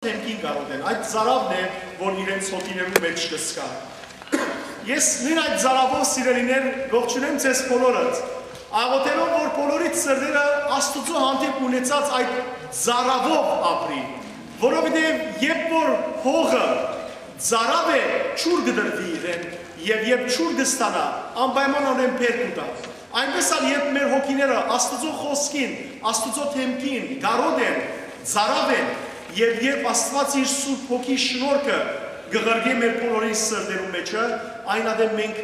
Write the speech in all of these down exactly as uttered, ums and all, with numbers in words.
դէմքին կարօտեն։ Այդ ծարաւն է, որ իրենց հոգիներուն մէջ կ'ըսկայ։ Ես նոյն այդ ծարաւով, սիրելիներ, կողջունեմ ձեզ բոլորը, աղօթելով, որ բոլորիդ սրտերը Աստուծոյ հանդէպ ունեցած այդ ծարաւով ապրին, որովհետեւ երբ որ հողը ծարաւ է, ջուր կը տրուի իրեն, եւ երբ ջուր կը ստանայ, անպայմանօրէն բերք կու տայ։ Այնպէս ալ երբ մեր հոգիները Աստուծոյ խօսքին, Աստուծոյ դէմքին կարօտ են, ծարաւ են, եւ երբ Աստուած իր Սուրբ Հոգի շնորհքը կը ղրկէ մեր բոլորին սրտերուն մէջը, այն ատեն մենք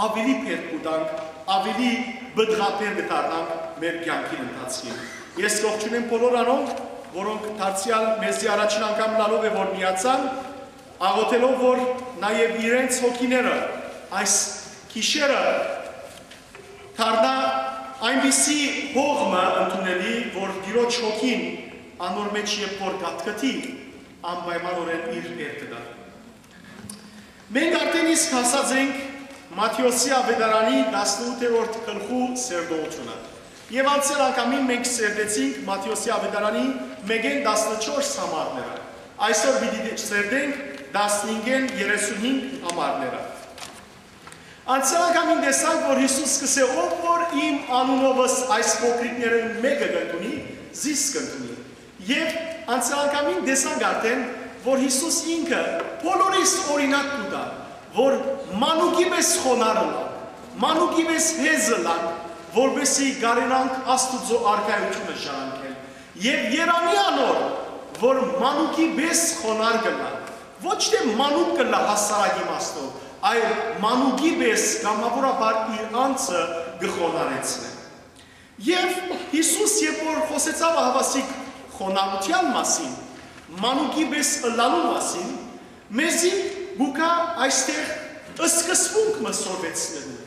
աւելի բերք կու տանք, աւելի պտղաբեր կը դառնանք մեր կեանքին ընթացքին։ Ես կողջունեմ բոլոր անոնք, որոնք դարձեալ մեզի առաջին անգամ լալով է որ միացան, աղօթելով որ նաեւ իրենց հոգիները այս գիշերը դառնայ այնպիսի հող մը ընդունելի, որ Տիրոջ հոգին անոր մէջ երբ որ կ'ատկտի, անպայմանօրէն իր բերքը տայ։ Մենք արդեն իսկ հասած ենք Մատթէոսի աւետարանի տասնութերորդ գլխու սերտողութիւնը։ Եւ անցեալ անգամին մենք սերտեցինք Մատթէոսի աւետարանի մէկէն տասնչորս համարները։ Այսօր պիտի սերտենք տասնհինգէն երեսունհինգ համարները։ Անցեալ անգամին տեսանք, որ Յիսուս կ'ըսէ. «Ով որ իմ անունովս այս փոքրիկներէն մէկը կ'ընդունի, զիս կ'ընդունի»։ Եւ անցեալ անգամին տեսանք արդեն, որ Յիսուս ինքը բոլորիս օրինակ կու տայ, որ մանուկի պէս խոնարհ ըլլանք, մանուկի պէս հեզ ըլլանք, որպէսզի կարենանք Աստուծոյ արքայութիւնը ժառանգել։ Եւ երանի անոր, որ մանուկի պէս խոնարհ կ'ըլլայ, ոչ թէ մանուկ կ'ըլլայ հասարակ իմաստով, այլ մանուկի պէս կամաւորաբար իր անձը կը խոնարհեցնէ։ Եւ Յիսուս, երբ որ խօսեցաւ ահաւասիկ խոնարհութեան մասին, մանուկի պէս ըլլալու մասին, մեզի կու գայ այստեղ սկզբունք մը սորվեցնելու,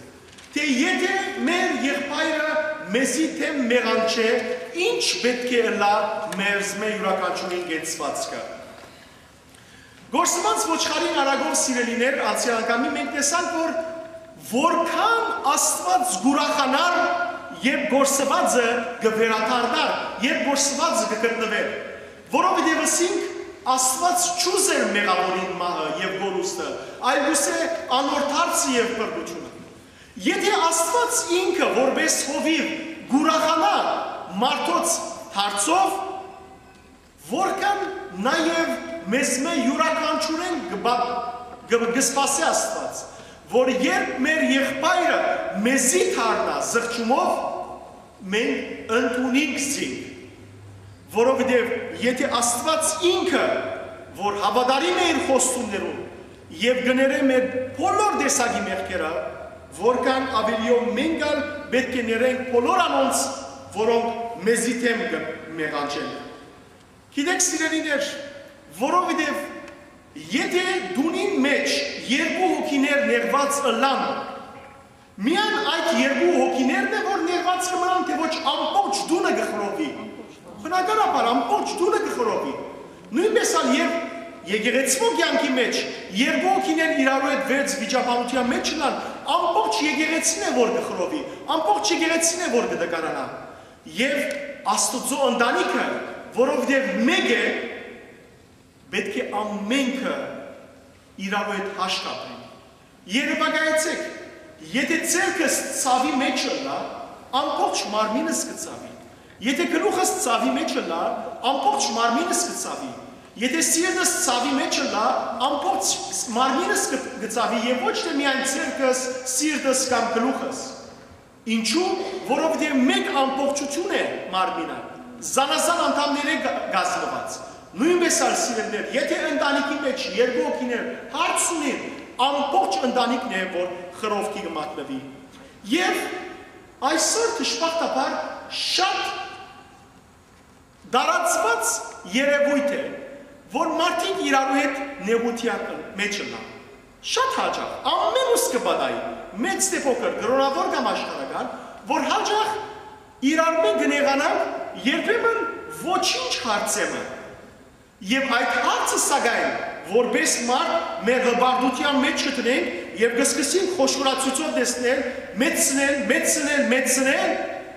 թէ եթէ մեր եղբայրը մեզի դէմ մեղանչէ, ինչ պէտք է ըլլայ մերզմէ իւրաքանչիւրին կեցուածքը։ Կորսուած ոչխարին արագով, սիրելիներ, անցեալ անգամի մենք տեսանք, որ որքան Աստուած կ'ուրախանար, երբ կորսուածը կը վերադառնար, երբ կորսուածը կը գտնուէր, որովհետեւ ըսինք, Աստուած չուզեր մեղաւորին մահը եւ կորուստը, այլ կ'ուզէ անոր դարձը եւ փրկութիւնը։ Եթէ Աստուած ինքը որպէս հովիւ կ'ուրախանայ մարդոց դարձով, որքան նաեւ մեզմէ իւրաքանչիուրէն կը բա-, կը, կը սպասէ Աստուած, որ երբ մեր եղբայրը մեզի դառնայ զղջումով, մենք ընդունինք զինք, որովհետեւ եթէ Աստուած ինքը, որ հաւատարիմ է իր խոստումներուն եւ կը ներէ մեր բոլոր տեսակի մեղքերը, որքան աւելիով մենք ալ պէտք է ներենք բոլոր անոնց, որոնք մեզի դէմ կը մեղանչեն։ Գիտեք, սիրելիներ, որովհետեւ եթէ տունին մէջ երկու հոգիներ նեղուած ըլլան, միայն այդ երկու հոգիներն է, որ նեղուած կը մնան, թէ ոչ ամբողջ տունը կը խռովի։ Բնականաբար, ամբողջ տունը կը խռովի։ Նոյնպէս ալ եւ եկեղեցւոյ կեանքի մէջ երկու հոգիներ իրարու հետ վեց վիճաբանութեան մէջ ըլլան, ամբողջ եկեղեցին է, որ կը խռովի, ամբողջ եկեղեցին է, որ կը տկարանայ։ Եւ Աստուծոյ ընտանիքը, որովհետեւ մէկ է, պէտք է ամենքը իրարու հետ հաշտ ապրին։ Երեւակայեցէք, եթէ ձեռքս ցաւի մէջ ըլլայ, ամբողջ մարմինս կը ցաւի։ Եթէ գլուխս ցաւի մէջ ըլլայ, ամբողջ մարմինս կը ցաւի։ Եթէ սիրտս ցաւի մէջ ըլլայ, ամբողջ մարմինս կը, կը ցաւի եւ ոչ թէ միայն ձեռքս, սիրտս կամ գլուխս։ Ինչու՞, որովհետեւ մէկ ամբողջութիւն է մարմինը, զանազան անդամներէ կա-, կազմուած։ Նոյնպէս ալ, սիրելիներ, եթէ ընտանիքի մէջ երկու հոգիներ հարց ունին, ամբողջ ընտանիքն է, որ խռովքի կը մատնուի։ Եւ այսօր, դժբախտաբար, շատ տարածուած երեւոյթ է, որ մարդիկ իրարու հետ նեղութեան մէջ ըլլան։ Շատ յաճախ, ամէն ուս կը պատահի, մեծ թէ փոքր, կրօնաւոր կամ աշխարհական, որ յաճախ իրարմէ կը նեղանանք, երբեմն ոչինչ հարցէ մը։ Եւ այդ հարցը, սակայն, որպէս մարդ մեր հպարտութեան մէջ կը դնենք եւ կը սկսենք խոշորացուցով տեսնել, մեծցնել, մեծցնել, մեծցնել,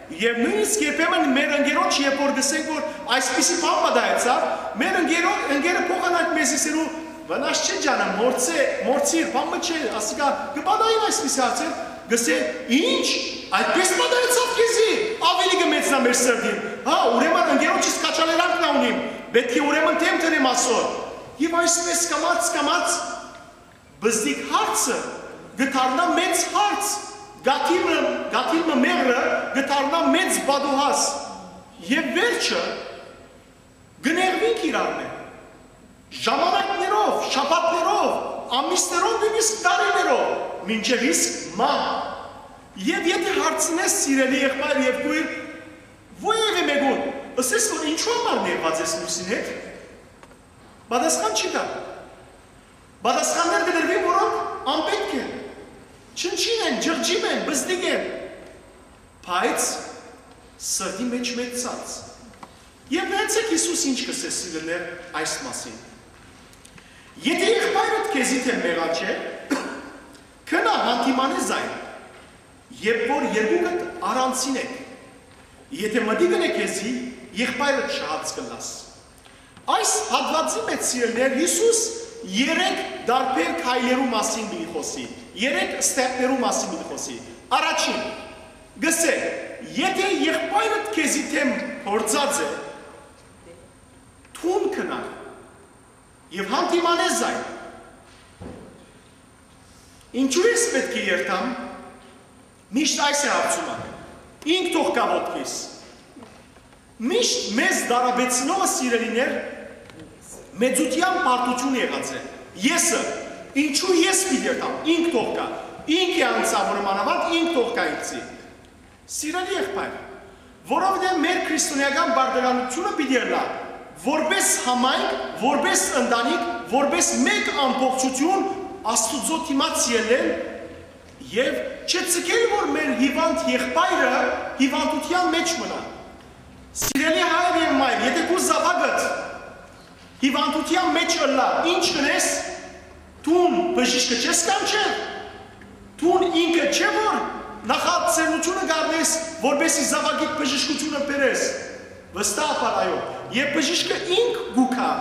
եւ նոյնիսկ երբեմն մեր ընկերոջ, երբ որ գսենք, որ այսպիսի բան պատահեցաւ, մեր ընկերո-, ընկերը փոխ կ'ըսի սիրու, վնաս չէ ջանը, մորցե, մորցիր, բան մը չէ, ասիկա կը պատահին այսպիսի հարցեր, կ'ըսէ, ինչ, այդպես պատահեցաւ քեզի, աւելի կը մեծնայ մեր սրտին, հա, ուրեմն ընկերոջս քաջալերանք նայ ունիմ, պէտք է ուրեմն դեմ դնեմ ասոր, եւ այսպես կամաց, կամաց, բզդիկ հարցը կը դառնայ մեծ հարց, գաթիլ մը, գաթիլ մը մեղրը կը դառնայ մեծ պատուհաս, եւ վերջը կը նեղուինք իրարմէ։ Ժամանակներով, շաբաթներով, ամիսներով, նոյնիսկ տարիներով, մինչեւ իսկ մահ։ Եւ եթէ հարցնես, սիրելի եղբայր եւ քոյր, որեւէ մէկուն, ըսես որ ինչու համար նեղուած ես մյուսին հետ, պատասխան չի տայ։ Պատասխաններ կը տրուին, որոնք անպէտք են, չնչին են, ջղջիմ են, բզդիկ են, բայց սրտի մէջ մեծցած։ Եւ նայեցէք Յիսուս ինչ կ'ըսէ, սիրելիներ, այս մասին։ Եթէ եղբայրդ քեզի դէմ մեղաչէ, գնա, յանդիմանէ զայն, երբ որ երկուքդ առանձին էք։ Եթէ մտիկ ընէ քեզի, եղբայրդ շահած կ'ըլլաս։ Այս հատուածի մէջ, սիրելիներ, Յիսուս երեք տարբեր քայլերու մասին պիտի խօսի, երեք step-ներու մասին պիտի խօսի։ Առաջին, կ'ըսէ, եթէ եղբայրդ քեզի դէմ գործած է, դուն գնա եւ յանդիմանէ զայն։ Ինչու ես պէտք է երթամ, միշտ այս է հարցումը, ինք թող գայ ոտքիս։ Միշտ մեզ տարապեցնողը, սիրելիներ, մեծութեան պարտութիւն եղած է։ Եսը, ինչու ես պիտի երթամ, ինք թող գայ, ինք է անցաւորը մանաւանդ, ինք թող գայ ինձի։ Սիրելի եղբայր, որովհետեւ մեր քրիստոնեական բարդարանութիւնը պիտի ըլլայ, որպէս համայնք, որպէս ընտանիք, որպէս մէկ ամբողջութիւն Աստուծոյ դիմաց ելլել եւ չցկել, որ մեր հիվանդ եղբայրը հիվանդութեան մէջ մնայ։ Սիրելի հայր եւ մայր, եթէ քու զաւակդ հիվանդութեան մէջ ըլլայ, ինչ կ'ընես, դուն բժիշկը չես կանչեր, դուն ինքը չէ՞ որ նախաձեռնութիւնը կ'առնես, որպէս զի զաւակիդ բժշկութիւնը բերես։ Վստահաբար այո, եւ բժիշկը ինք կու գայ։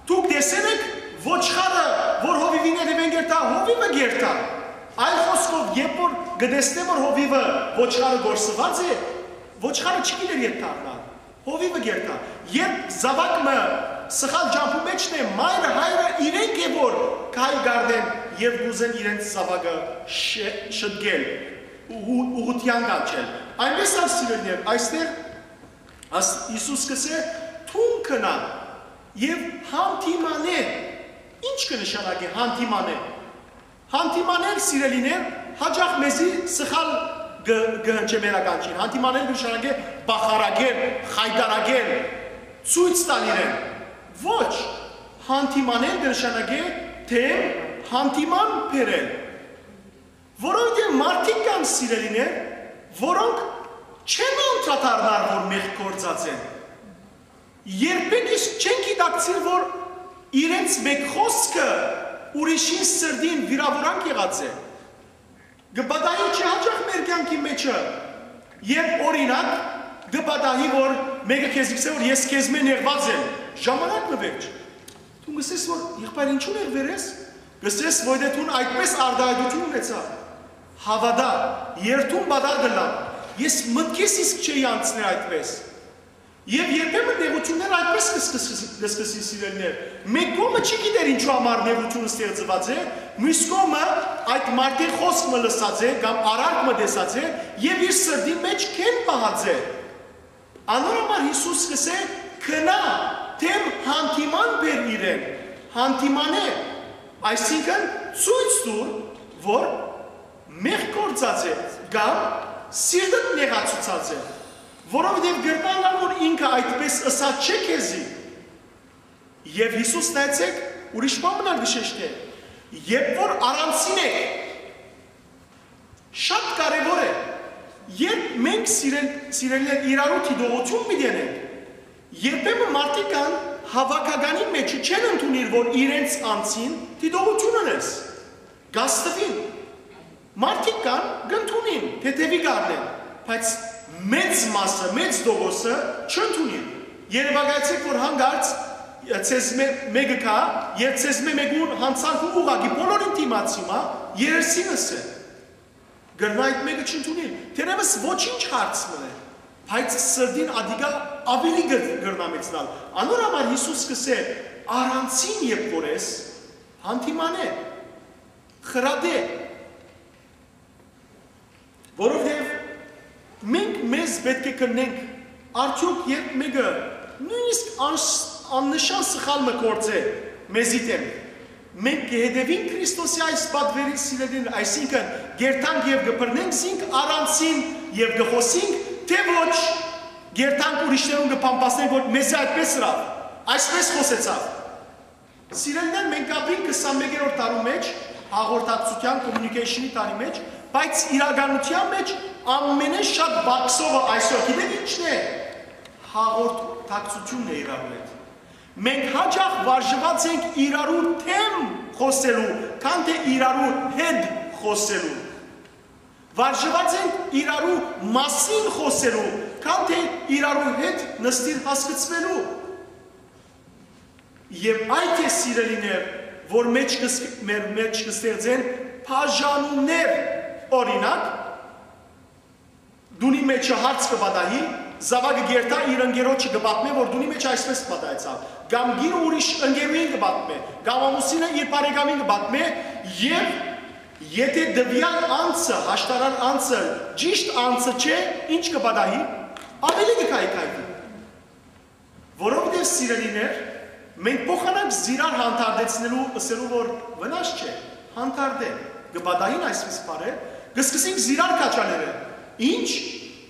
Դուք տեսե՞լ էք ոչխարը, որ հովիւին հետ հովիւը կ'երթայ։ Այլ խօսքով, երբ որ կը տեսնէ, որ հովիւը, ոչխարը կորսուած է, ոչխարը չի գիտեր ետ դառնալ։ Հովիւը կ'երթայ։ Երբ զաւակ մը սխալ ճամբու մէջն է, մայրը, հայրը իրենք է որ քայլ կ'առնեն եւ կ'ուզեն իրենց զաւակը շ-, շտկել, ուղ-, ուղղութեան կանչել։ Այնպէս ալ, սիրելիներ, այստեղ աս-, Յիսուս կ'ըսէ, դուն գնա եւ յանդիմանէ։ Ինչ կը նշանակէ յանդիմանէ։ Յանդիմանել, սիրելիներ, յաճախ մեզի սխալ կը, կը հնչէ մեր ականջին։ Յանդիմանել կը նշանակէ բախարակել, խայտարակել, ցոյց տալ իրեն։ Ոչ, յանդիմանել կը նշանակէ դէմ յանդիման բերել։ Որովհետեւ մարդիկ կան, սիրելիներ, որոնք չեն անդրադառնար, որ մեղք գործած են։ Երբեք իսկ չեն գիտակցիր, որ իրենց մէկ խօսքը ուրիշին սրտին վիրաւորանք եղած է։ Կը պատահի չէ՞ յաճախ մեր կեանքի մէջը, երբ, օրինակ, կը պատահի, որ մէկը քեզի կ'ըսէ, որ ես քեզմէ նեղուած եմ, ժամանակ մը վերջ։ Դուն կ'ըսես, որ, եղբայր, ինչու՞ նեղուեր ես, կ'ըսես, որ դե դուն այդպես արտայայտութիւն ունեցայ, հաւատա, երթուն պատառ կ'ըլլամ, ես մտքիս իսկ չէի անցներ այդպես։ Եւ երբեմն նեղութիւնները այդպես կը սկսի, կը սկսի, սիրելիներ։ Մէկ կողմը չի գիտեր ինչու համար նեղութիւնը ստեղծուած է, միւս կողմը այդ մարդի խօսք մը լսած է կամ արարք մը տեսած է եւ իր սրտին մէջ քեն պահած է։ Անոր համար Յիսուս կ'ըսէ. «Գնա, դէմ յանդիման բեր իրեն, յանդիմանէ, այսինքն՝ ցոյց տուր, որ մեղք գործած է կամ սիրտդ նեղացուցած է, որովհետեւ կրնայ ըլլալ, որ ինքը այդպես ըսած չէ քեզի»։ Եւ Յիսուս, նայեցէք, ուրիշ բան մնալ կը շեշտէ. «Երբ որ առանձին եք», շատ կարեւոր է, երբ մենք, սիրել-, սիրելիներ, իրարու դիտողություն պիտի ունենք, երբեմն մարդիկ կան, հաւաքականի մեջ չեն ընդունիր, որ իրենց անձին դիտողություն ունես, կաստուին։ Մարդիկ կան, կ'ընդունին, թեթեւի կ'առնեն, բայց մեծ մասը, մեծ տոկոսը չընդունին։ Երեւակայեցէք, որ հանկարծ Ձեզմէ մէկը գայ, եւ ձեզմէ մէկուն յանցանքը ուղղակի բոլորին դիմաց հիմա երեսին ըսէ։ Կրնայ այդ մէկը չընդունիլ։ Թերեւս ոչինչ հարց մըն է, բայց սրտին ատիկա աւելի կը-, կրնայ մեծնալ։ Անոր համար Յիսուս կ'ըսէ. «Առանձին երբ որ ես, հանդիմանէ, խրատէ»։ Որովհետեւ մենք մեզ պէտք է քննենք, արդեօք երբ մէկը նոյնիսկ անշ-, աննշան սխալ մը գործէ մեզի դէմ, մենք կը հետեւի՞նք Քրիստոսի այս պատուէրին, սիրելիներ, այսինքն՝ կ'երթանք եւ կը բռնենք զինք առանձին եւ կը խօսի՞նք, թէ՞ ոչ, կ'երթանք ուրիշներուն կը բամբասենք, որ մեզի այդպէս ըրաւ, այսպէս խօսեցաւ։ Սիրելիներ, մենք ապրինք քսանմէկերորդ դարու մէջ, հաղորդակցութեան, communication-ի դարի մէջ, բայց իրականութեան մէջ ամենէն շատ պակսովը այսօր գիտէք ի՞նչն է։ Հաղորդակցութիւնն է իրարու հետ։ Մենք յաճախ վարժուած ենք իրարու դէմ խօսելու, քան թէ իրարու հետ խօսելու։ Վարժուած ենք իրարու մասին խօսելու, քան թէ իրարու հետ նստիր հասկցուելու։ Եւ այդ է, սիրելիներ, որ մէջ կս-, մեր մէջ կստեղծեն բաժանումներ, օրինակ, տունի մէջը հարց կը պատահի, զաւակը կ'երթայ իր ընկերոջը կը պատմէ, որ տունի մէջ այսպէս պատահեցաւ, կամ կինը ուրիշ ընկերուհին կը պատմէ, կամ ամուսինը իր բարեկամին կը պատմէ, եւ եթէ տուեալ անձը, հաշտարար անձը, ճիշդ անձը չէ, ի՞նչ կը պատահի, աւելի կը քայքայուի։ Որովհետեւ, սիրելիներ, մենք փոխանակ զիրար հանդարտեցնելու, ըսելու որ վնաս չէ, հանդարտէ, կը պատահին այսպիսի բաներ, կը սկսենք զիրար քաջալերել։ Ի՞նչ,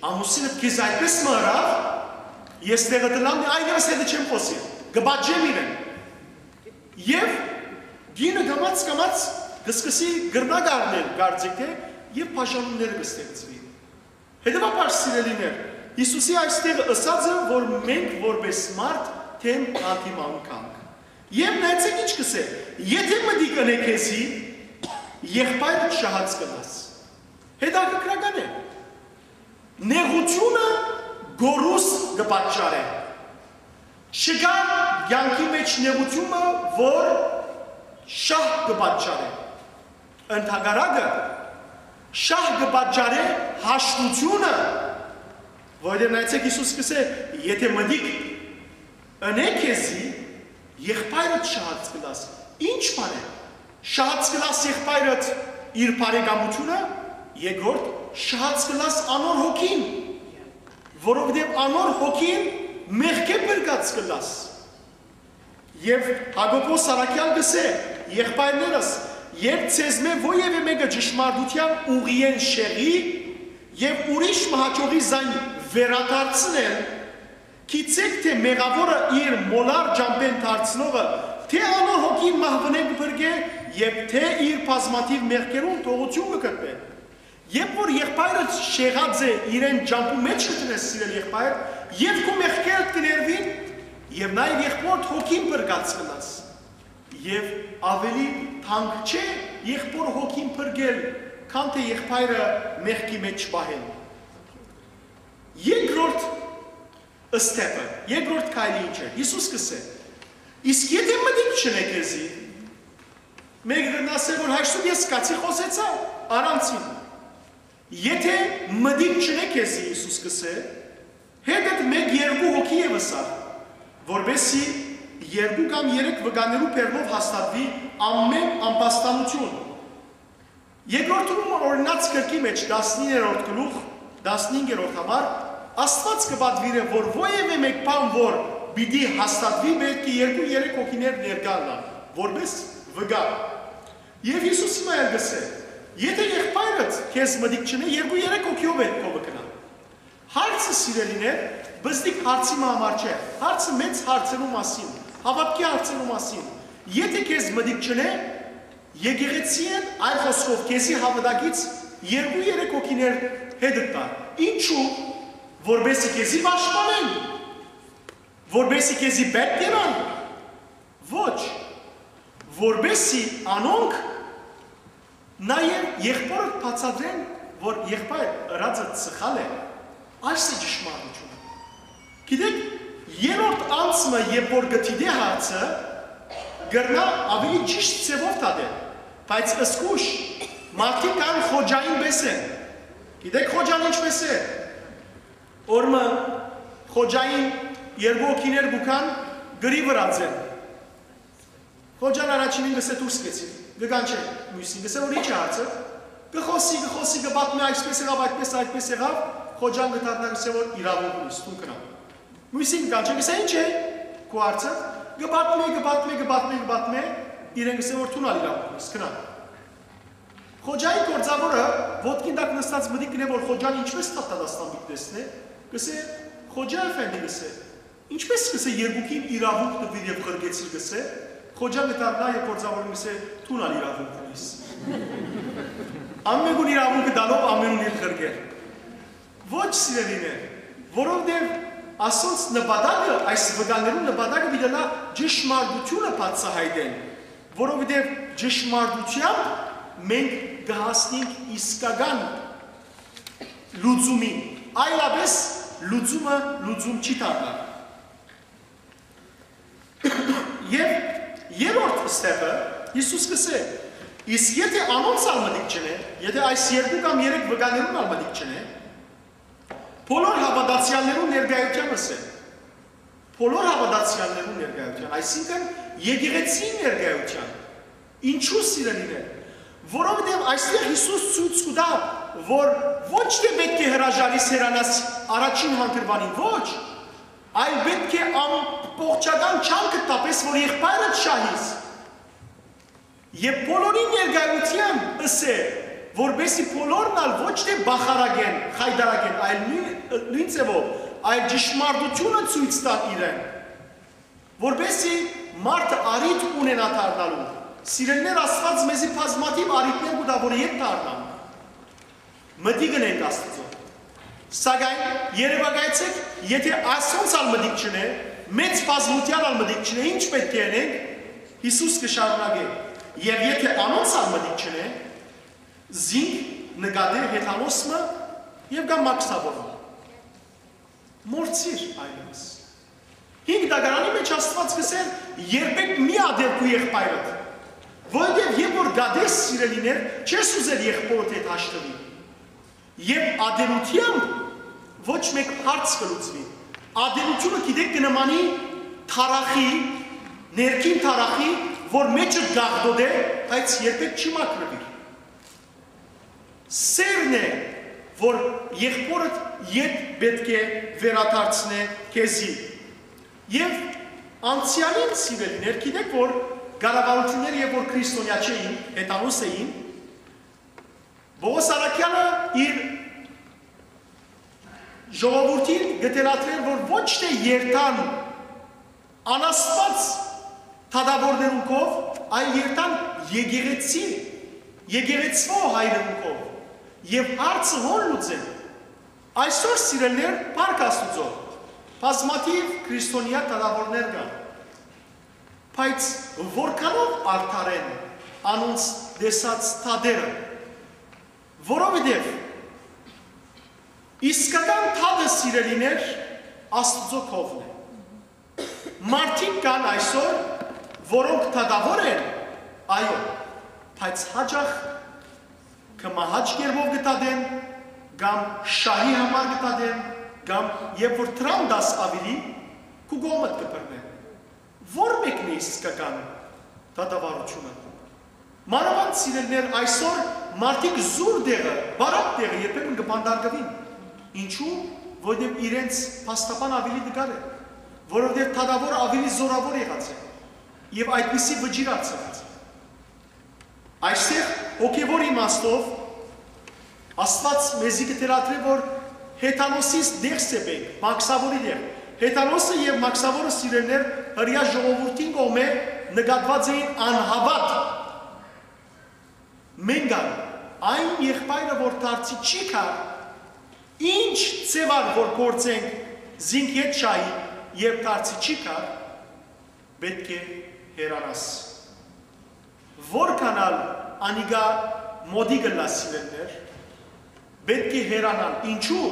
ամուսինդ քեզ այդպէս մը ըրաւ, ես տեղը ըլլամ, այլեւս հետը չեմ խօսիր, կը պատժեմ իրեն։ Եւ կինը կամաց-կամաց կը սկսի կրնակ առնել կարծիքը եւ բաժանումները կը ստեղծուի։ Հետեւաբար, սիրելիներ, Յիսուսի այստեղ ըսածը, որ մենք որպէս մարդ դէմ հանդիման գանք։ Եւ նայեցէք ինչ կ'ըսէ. «Եթէ մտիկ ընէ քեզի, եղբայրդ շահած կ'ըլլաս»։ Հետաքրքրական է։ Նեղութիւնը գորուս կը պատճառէ։ Չկայ կեանքի մէջ նեղութիւնը, որ շահ կը պատճառէ։ Ընդհակառակը, շահ կը պատճառէ հաշտութիւնը, որովհետեւ նայեցէք, Յիսուս կ'ըսէ. «Եթէ մտիկ ընէ քեզի, եղբայրդ շահած կ'ըլլաս»։ Ի՞նչ բան է։ Շահած կ'ըլլաս եղբայրդ իր բարեկամութիւնը, երկրորդ, շահած կ'ըլլաս անոր հոգին, որովհետեւ անոր հոգին մեղքէ փրկած կ'ըլլաս։ Եւ Յակոբոս Առաքեալ կ'ըսէ. «Եղբայրներս, երբ ձեզմէ ոեւէ մէկը ճշմարտութեան ուղիէն շեղի եւ ուրիշ մը հաճողի զայն վերադարձնել, գիտցէք թէ մեղաւորը իր մոլար ճամբէն դարձնողը թէ անոր հոգին մահուընէն կը փրկէ եւ թէ իր բազմաթիւ մեղքերուն թողութիւն կը գտնէ»։ Երբ որ եղբայրը շեղած է իրեն ճամբու մէջ կը դնես, սիրել եղբայր, եւ քու մեղքերդ կը ներուին, եւ նաեւ եղբորդ հոգին փրկած կ'ըլլաս։ Եւ աւելի թանկ չէ եղբոր հոգին փրկել, քան թէ եղբայրը մեղքի մէջ պահել։ Երկրորդ step-ը, երկրորդ քայլը ի՞նչ է։ Յիսուս կ'ըսէ. «Իսկ եթէ մտիկ չընէ քեզի», մէկը կ'ասէ, որ հաշտու ես կացի խօսեցայ, առանցին։ «Եթէ մտիկ չընէ քեզի», Յիսուս կ'ըսէ, «հետդ մէկ երկու հոգի եւս ա, որպեսզի երկու կամ երեք վկաներու բեռնով հաստատուի ամէն ամբաստանութիւն»։ Երկրորդ Հռոմէ օրինաց գրքի մէջ տասնիններորդ գլուխ, տասնհինգերորդ համար, Աստուած կը պատուիրէ, որ որեւէ մէկ բան որ պիտի հաստատուի, պէտք է երկու-երեք հոգիներ ներկայ ըլլան, որպէս վկայ։ Եւ Յիսուս հիմա ալ կ'ըսէ. «Եթէ եղբայրդ քեզ մտիկ չընէ, երկու-երեք հոգիով է քովը գնա»։ Հարցը, սիրելիներ, բզդիկ հարցի մը համար չէ, հարցը մեծ հարցերու մասին, հաւատքի հարցերու մասին։ Եթէ քեզ մտիկ չընէ, եկեղեցին, այլ խօսքով, քեզի հաւատակից երկու-երեք հոգիներ հետդ տար։ Ինչու՞։ Որպեսզի քեզի պաշտպանեն, որպեսզի քեզի պէտք եղան։ Ոչ, որպեսզի անոնք նաեւ եղբորդ բացատրեն, որ եղբայր, ըրածդ սխալ է, այս է ճշմարտությունը։ Գիտեք, Երրորդ անձը, երբ որ կը դիտէ հարցը, կրնայ աւելի ճիշդ ձեւով դատել, բայց զգոյշ, մարդիկ կան խոջային պէս են։ Գիտեք խոջան ինչպէս է։ Օրը մը խոջային երկու հոգիներ կու գան, գրի վրայ են։ Խոջան առաջինին կ'ըսէ՝ «Դուրս գեցի»։ Կը կանչէ միւսին, կ'ըսէ որ՝ «Ի՞նչ է հարցը»։ Կը խօսի, կը խօսի, կը պատմէ՝ «Այսպէս եղաւ, այդպէս, այդպէս եղաւ»։ Խոջան կը դառնայ, կ'ըսէ որ՝ «Իրաւունք ունիս, դուն գնա»։ Միւսին կը կանչէ, կ'ըսէ՝ «Ի՞նչ է քու հարցը»։ Կը պատմէ, կը պատմէ, կը պատմէ, կը պատմէ, իրեն կ'ըսէ որ՝ «Դուն ալ իրաւունք ունիս, գնա»։ Խոջայի գործաւորը ոտքին տակ նստած մտիկ կ'ընէ որ խոջան ինչպէս դատաստան պիտի տեսնէ, կ'ըսէ. «Խոջա էֆենդի», կ'ըսէ, «ինչպէս կ'ըսէ երկուքին իրաւունք տուիր եւ ղրկեցիր», կ'ըսէ, խոջան կը դառնայ եւ գործաւորին կ'ըսէ. «Դուն ալ իրաւունք ունիս»։ Ամէնքուն իրաւունքը տալով, ամէնքուն իր ղրկել։ Ոչ, սիրելիներ, որովհետեւ ասոնց նպատակը, այս վկաներուն նպատակը պիտի ըլլայ ճշմարտութիւնը բացայայտել, որովհետեւ ճշմարտութեամբ մենք կը հասնենք իսկական լուծումին, այլապէս լուծումը լուծում չի դառնար։ Եւ երրորդ ստեփը, Յիսուս կ'ըսէ. «Իսկ եթէ անոնց ալ մտիկ չընէ, եթէ այս երկու կամ երեք վկաներուն ալ մտիկ չընէ, բոլոր հաւատացեալներուն ներկայութեան ըսէ»։ Բոլոր հաւատացեալներուն ներկայութեան, այսինքն՝ եկեղեցին ներկայութեան։ Ինչու, սիրելիներ։ Որովհետեւ այստեղ Յիսուս ցոյց կու տայ, որ ոչ թէ պէտք է հրաժարիս, հեռանաս առաջին հանգրուանին, ոչ, այլ պէտք է ամբողջական չանքդ տայ, պէս որ եղբայրդ շահիս։ Եւ բոլորին ներկայութեան ըսէ, որպէսզի բոլորն ալ ոչ թէ բախարակեն, խայտարակեն, այլ նոյն, նոյն ձեւով, այլ ճշմարտութիւնը ցոյց տան իրեն, որպէսզի մարդը առիթ ունենայ դառնալու։ Սիրելիներ, Աստուած մեզի բազմաթիւ առիթներ կու տայ, որ ետ դառնանք, մտիկ ընենք Աստուծոյ։ Սակայն երեւակայեցէք, եթէ ասոնց ալ մտիկ չընէ, մեծ բազմութեան ալ մտիկ չընէ, ի՞նչ պէտք է ընենք։ Յիսուս կը շարունակէ. «Եւ եթէ անոնց ալ մտիկ չընէ, զինք նկատէ հեթանոս մը եւ կամ մաքսաւոր մը»։ Մոռցիր այլեւս։ Հինգ տակարանի մէջ Աստուած կ'ըսէր. «Երբեք մի ատել քու եղբայրդ, որովհետեւ երբ որ կ'ատես, սիրելիներ, չես ուզեր եղբորդ հետ հաշտուի»։ Եւ ատելութեամբ ոչ մէկ հարց կը լուծուի։ Ատելութիւնը, գիտեք, կը նմանի թարախի, ներքին թարախի, որ մէջը կ'աղտոտէ, բայց երբեք չի մաքրուի։ Սէրն է, որ եղբորդ ետ պէտք է վերադարձնէ քեզի։ Եւ անցեալին, սիրելիներ, գիտեք որ կառավարութիւնները, երբ որ քրիստոնեայ չէին, հեթանոս էին, Պողոս առաքեալը իր ժողովուրդին կը թելադրէր, որ ոչ թէ երթան անաստուած դատաւորներուն քով, այլ երթան եկեղեցի, եկեղեցւոյ հայրերուն քով, եւ հարցը հոն լուծեն։ Այսօր, սիրելիներ, փառք Աստուծոյ, բազմաթիւ քրիստոնեայ դատաւորներ կան, բայց որքանո՞վ արդար են անոնց տեսած դատերը, որովհետեւ իսկական դատը, սիրելիներ, Աստուծոյ քովն է։ Մարդիկ կան այսօր, որոնք դատաւոր են, այո, բայց յաճախ կը մահաճ կերպով կը դատեն, կամ շահի համար կը դատեն, կամ երբ որ դրան տաս աւելի, քու կողմդ կը բռնեն։ Ո՞ր մեկն է իսկական դատավարութիւնը։ Մանաւանդ, սիրելիներ, այսօր մարդիկ զուր տեղը, բարակ տեղը երբեմն կը բանտարկուին։ Ինչու՞, որովհետեւ իրենց փաստաբան աւելի տկար է, որովհետեւ դատաւորը աւելի զօրաւոր եղած է եւ այդպիսի վճիռ արձակած է։ Այստեղ հոգեւոր իմաստով Աստուած մեզի կը թելադրէ, որ հեթանոսից ներս է պէտք, մաքսաւորի դեր։ Հեթանոսը եւ մաքսաւորը, սիրելիներ, հրեայ ժողովուրդին կողմէ նկատուած էին անհաւատ։ Մենգան, այն եղբայրը, որ դարձի չի գար, ինչ ձեւար որ գործենք, զինք ետ շահի, երբ դարձի չի գար, պէտք է հեռանաս։ Որքան ալ անիկա մոտիկ ըլլայ, սիրելիներ, պէտք է հեռանալ։ Ինչու՞,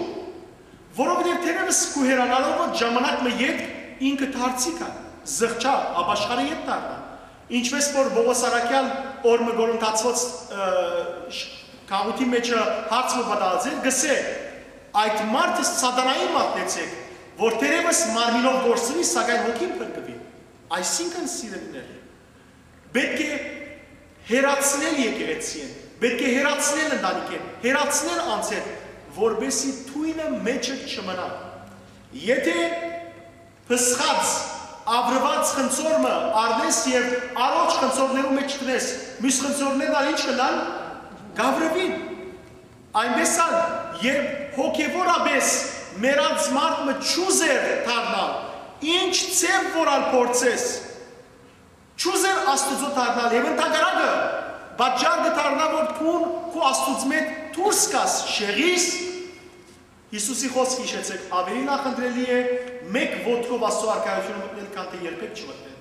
որովհետեւ թերեւս քու հեռանալով ժամանակ մը ետք ինքը դարձի գայ, զղջայ, ապաշխարէ ետ դառնայ։ Ինչպէս որ Պողոս առաքեալ օր մը Կորինթացիներու, ը, շ-, գաղութի մէջ հարց մը պատմած էր, կ'ըսէ. «Այդ մարդը սատանային մատնեցէք, որ թերեւս մարմինով կորսնի, սակայն հոգին փրկուի»։ Այսինքն, սիրելիներ, պէտք է հեռացնել եկեղեցիէն, պէտք է հեռացնել ընտանիքէն, հեռացնել անձէն, որպէսզի թոյլը մէջը չմնայ։ Եթէ փսխած, աւրուած խնձոր մը առնես եւ առողջ խնձորներու մէջ դնես, միւս խնձորներն ալ ի՞նչ կ'ըլլան, կ'աւրուին։ Այնպէս ալ, երբ հոգեւորապէս մեռած մարդ մը չուզեր դառնալ, ինչ ձեւ որ ալ փորձես, չուզեր Աստուծոյ դառնալ եւ ընդհակառակը պատճառ կը դառնայ, որ դուն քու Աստուծմէ դուրս գաս, շեղիս, Յիսուսի խօսքը յիշեցէք, աւելի նախընտրելի է մէկ ոտքով Աստուծոյ արքայութիւնը մտնել, քան թէ երբեք չմտնել։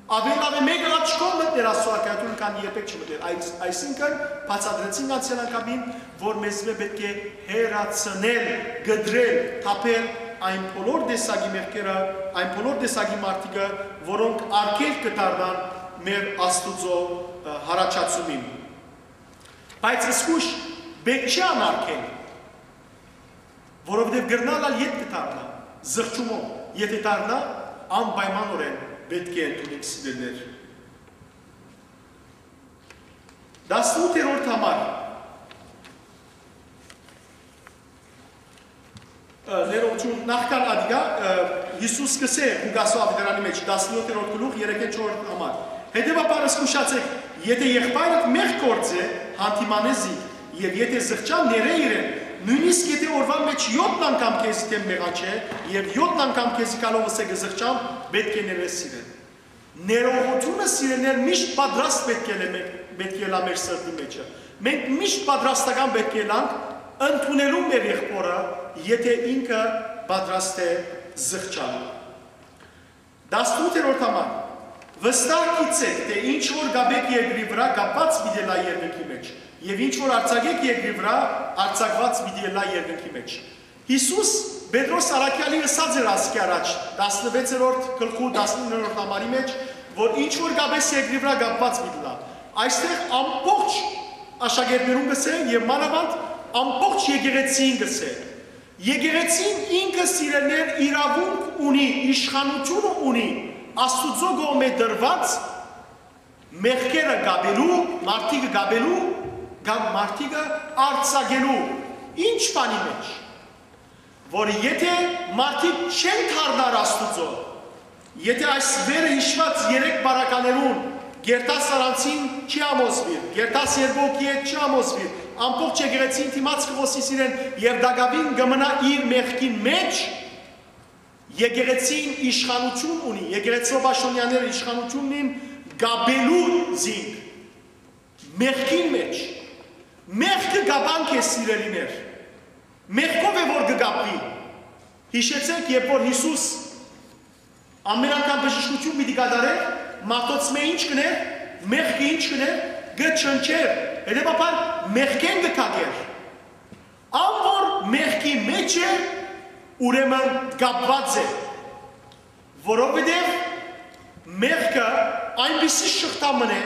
Աւելի լաւ է մէկ աչքով մտնել Աստուծոյ արքայութիւնը, քան երբեք չմտնել։ Այս-, այսինքն, բացատրեցինք անցեալ անգամին, որ մեզմէ պէտք է հեռացնել, կտրել, թափել այն բոլոր տեսակի մեղքերը, այն բոլոր տեսակի մարդիկը, որոնք արգելք կը դառնան մեր Աստուծոյ, ը, յառաջացումին։ Բայց զգոյշ պէտք չի անարգել, որովհետեւ կրնալ ալ ետ կը դառնայ, զղջումով, եթէ դառնայ, անպայմանօրէն պէտք է ընդունենք, սիրելիներ։ Տասնութերորդ համար։ Ը, ներողություն, նախքան ատիկա, ը, Յիսուս կ'ըսէ Ղուկասի աւետարանի մէջ, տասնյոթերորդ գլուխ, երեքերորդ համար. «Հետեւաբար զգուշացէք, եթէ եղբայրդ մեղք գործէ, յանդիմանէ զինք, եւ եթէ զղջայ, ներէ իրեն, նոյնիսկ եթէ օրուան մէջ եօթն անգամ քեզի դէմ մեղանչէ, եւ եօթն անգամ քեզի գալով ըսէ կը զղջամ, պէտք է ներես իրեն»։ Ներողութիւնը, սիրելիներ, միշտ պատրաստ պէտք է ըլլայ մե-, պէտք է ըլլայ մեր սրտի մէջը։ Մենք միշտ պատրաստական պէտք է ըլլանք ընդունելու մեր եղբօրը, եթէ ինքը պատրաստ է զղջալու։ Տասնութերորդ համար. «Վստահ գիտցէք, թէ ինչ որ կ'ապէք երկրի վրայ, կապուած պիտի ըլլայ երկնքի մէջ, եւ ինչ որ արձակէք երկրի վրայ, արձակուած պիտի ըլլայ երկնքի մէջ»։ Յիսուս Պետրոս առաքեալին ըսած էր ասկէ առաջ, տասնվեցերորդ գլխու տասնիններորդ համարի մէջ, որ ինչ որ կ'ապես երկրի վրայ, կապուած պիտի ըլլայ։ Այստեղ ամբողջ աշակերտներուն կ'ըսէ եւ մանաւանդ ամբողջ եկեղեցիին կ'ըսէ։ Եկեղեցին ինքը, սիրելիներ, իրաւունք ունի, իշխանութիւնը ունի Աստուծոյ կողմէ տրուած մեղքերը կապելու, մարդիկը կապելու կամ մարդիկը արձակելու։ Ի՞նչ բանի մէջ, որ եթէ մարդիկ չեն դառնար Աստուծոյ, եթէ այս վերը յիշուած երեք պարագաներուն կերտաս առանցին չի համոզուիր, կերտաս երկու հոգի հետ չի համոզուիր, ամբողջ եկեղեցին դիմաց կը խօսիս իրեն եւ տակաւին կը մնայ իր մեղքին մէջ, եկեղեցին իշխանութիւն ունի, եկեղեցւոյ պաշտօնեաները իշխանութիւն ունին կապելու զինք մեղքին մէջ։ Մեղքը կապանք է, սիրելիներ։ Մեղքով է որ կը կապուի։ Յիշեցէք, երբ որ Յիսուս ամէն անգամ բժշկութիւն պիտի կատարէր, մարդոցմէ ի՞նչ կ'ընէր, մեղքը ի՞նչ կ'ընէր, կը չնչէր, հետեւաբար մեղքէն կը քակէր։ Ան որ մեղքի մէջ է, ուրեմն կապուած է, որովհետեւ մեղքը այնպիսի շղթայ մըն է,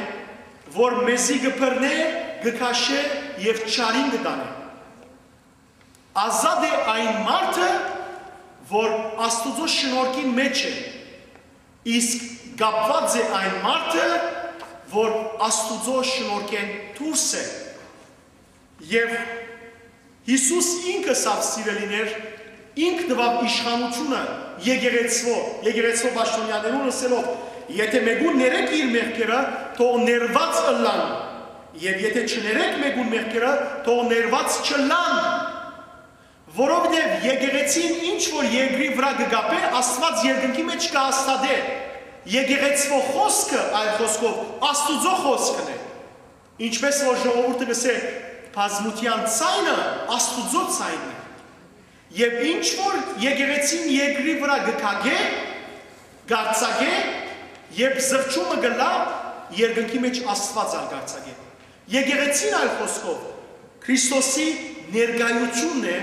որ մեզի կը բռնէ, կը քաշէ եւ չարին կը տանէ։ Ազատ է այն մարդը, որ Աստուծոյ շնորհքին մէջ է, իսկ կապուած է այն մարդը, որ Աստուծոյ շնորհքէն դուրս է։ Եւ Յիսուս ինքը ըսաւ, սիրելիներ, ինք տուաւ իշխանութիւնը եկեղեցւոյ, եկեղեցւոյ պաշտօնեաներուն ըսելով. «Եթէ մէկուն ներէք իր մեղքերը, թող ներուած ըլլան, եւ եթէ չներէք մէկուն մեղքերը, թող ներուած չըլլան»։ Որովհետեւ եկեղեցին ինչ որ երկրի վրայ կը կապէ, Աստուած երկնքի մէջ կը հաստատէ։ Եկեղեցւոյ խօսքը, այլ խօսքով, Աստուծոյ խօսքն է։ Ինչպէս որ ժողովուրդը կ'ըսէ, բազմութեան ձայնը Աստուծոյ ձայնն է։ Եւ ինչ որ եկեղեցին երկրի վրայ կը քակէ, կ'արձակէ, երբ զղջումը կ'ըլլայ, երկնքի մէջ Աստուած ալ կ'արձակէ։ Եկեղեցին, այլ խօսքով, Քրիստոսի ներկայութիւնն է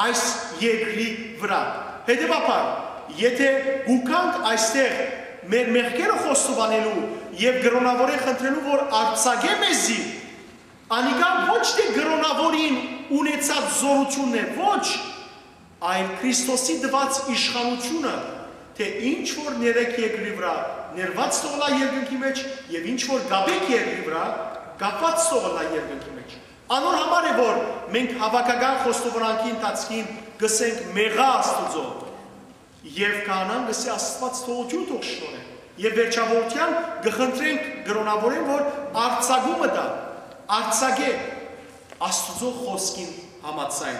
այս երկրի վրայ։ Հետեւաբար, Եթէ կու գանք այստեղ մեր մեղքերը խոստովանելու եւ կրօնաւորէն խնդրելու, որ արձակէ մեզի, անիկա ոչ թէ կրօնաւորին ունեցած զօրութիւնն է, ոչ, այլ Քրիստոսի տուած իշխանութիւնը, թէ ինչ որ ներեք երկրի վրայ, ներուած թող ըլլայ երկնքի մէջ, եւ ինչ որ կապեք երկրի վրայ, կապուած թող ըլլայ երկնքի մէջ։ Անոր համար է, որ մենք հաւաքական խոստովանանքի ընթացքին կ'ըսենք «Մեղա Աստուծոյ», եւ քահանան կ'ըսէ «Աստուած թողութիւն թող շնորհէ»։ Եւ վերջաւորութեան կը խնդրենք կրօնաւորէն, որ արձակումը տայ, արձակէ Աստուծոյ խօսքին համաձայն։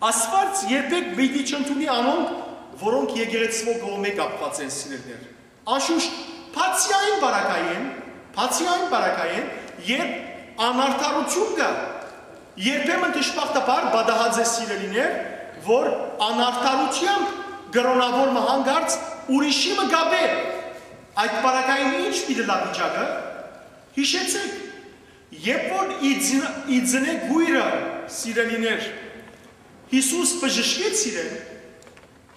Աստուած երբեք պիտի չընդունի անոնք, որոնք եկեղեցւոյ կողմէ կապուած են, սիրելիներ։ Անշուշտ, բացի այն պարագային, բացի այն պարագային, երբ անարդարութիւն կայ, երբեմն դժբախտաբար պատահած է, սիրելիներ, որ անարդարութեամբ կրօնաւոր մը յանկարծ ուրիշի մը կապէ։ Այդ պարագային ի՞նչ պիտի ըլլայ վիճակը։ Յիշեցէք, երբ որ ի ծն-, ի ծնէ կոյրը, սիրելիներ, Յիսուս բժշկեց իրեն,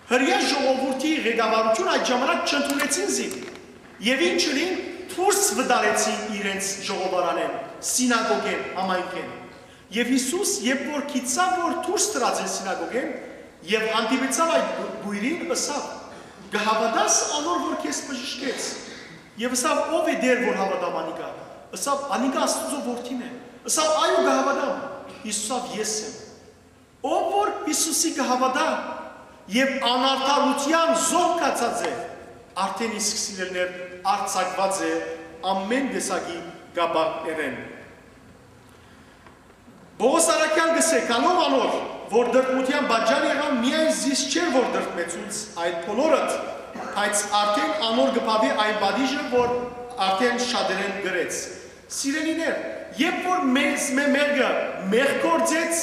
հրեայ ժողովուրդի ղեկավարութիւնը այդ ժամանակ չընդունեցին զինք, եւ ինչ ըլլին, դուրս վտարեցին իրենց ժողովարանէն, սինագոգէն, համայնքէն։ Եւ Յիսուս, երբ որ գիտցաւ, որ դուրս դրած են սինագոգէն, եւ հանդիպեցաւ այդ կոյրին, ըսաւ. «Կը հաւատա՞ս անոր, որ քեզ բժշկեց»։ Եւ ըսաւ. «Ո՞վ է, Տէր, որ հաւատամ անիկա»։ Ըսաւ. «Անիկա Աստուծոյ որդին է»։ Ըսաւ. «Այո, կը հաւատամ»։ Յիսուս ըսաւ. «Ես եմ»։ Ով որ Յիսուսի կը հաւատայ եւ անարդարութեան զոհ գացած է, արդէն իսկ, սիրելիներ, արձակուած է ամէն տեսակի կապանքներէն։ Պողոս առաքեալ կ'ըսէ. «Գալով անոր, որ տրտմութեան պատճառ եղաւ, միայն զիս չէր որ տրտմեցուց, այլ բոլորդ, բայց արդէն անոր կը բաւի այն պատիժը, որ արդէն շատերէն կրեց»։ Սիրելիներ, երբ որ մեզ մէ մեղքը մեղք գործեց,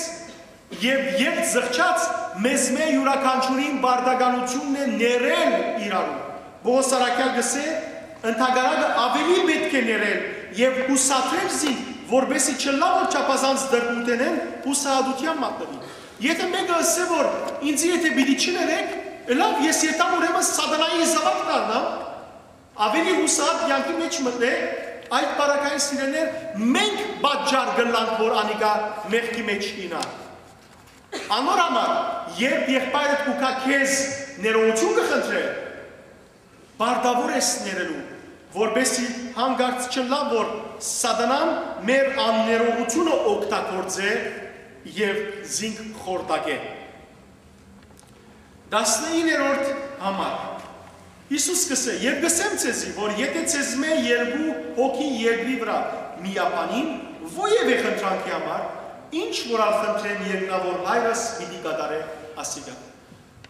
եւ երբ զղջաց, մեզ մէ իւրաքանչիւրին պարտականութիւնն է ներել իրարու։ Պողոս առաքեալ կ'ըսէ. «Ընդհակառակը աւելի պէտք է ներել եւ յուսադրել զինք, որպէսզի չըլլայ որ չափազանց տրտմութենէն յուսահատութեան մատնուի»։ Եթէ մէկը ըսէ, որ ինձի եթէ պիտի չներեք, լաւ, ես երթամ, ուրեմն սատանային զաւակ դառնամ, աւելի յուսահատ կեանքի մէջ մտնէ, այդ պարագային, սիրելիներ, մենք պատճառ կ'ըլլանք, որ անիկա մեղքի մէջ իյնայ։ Անոր համար, երբ եղբայրդ կու գայ քեզ, ներողութիւն կը խնդրէ, պարտաւոր ես ներելու, որպէսզի յանկարծ չըլլայ որ սատանան մեր աններողութիւնը օգտագործէ եւ զինք խորտակէ։ Տասնիններորդ համար։ Յիսուս կ'ըսէ. «Եւ կ'ըսեմ ձեզի, որ եթէ ձեզմէ երկու հոգի երկրի վրայ միաբանին որեւէ խնդրանքի համար, ինչ որ ալ խնդրեն, երկնաւոր Հայրս պիտի կատարէ ասիկա»։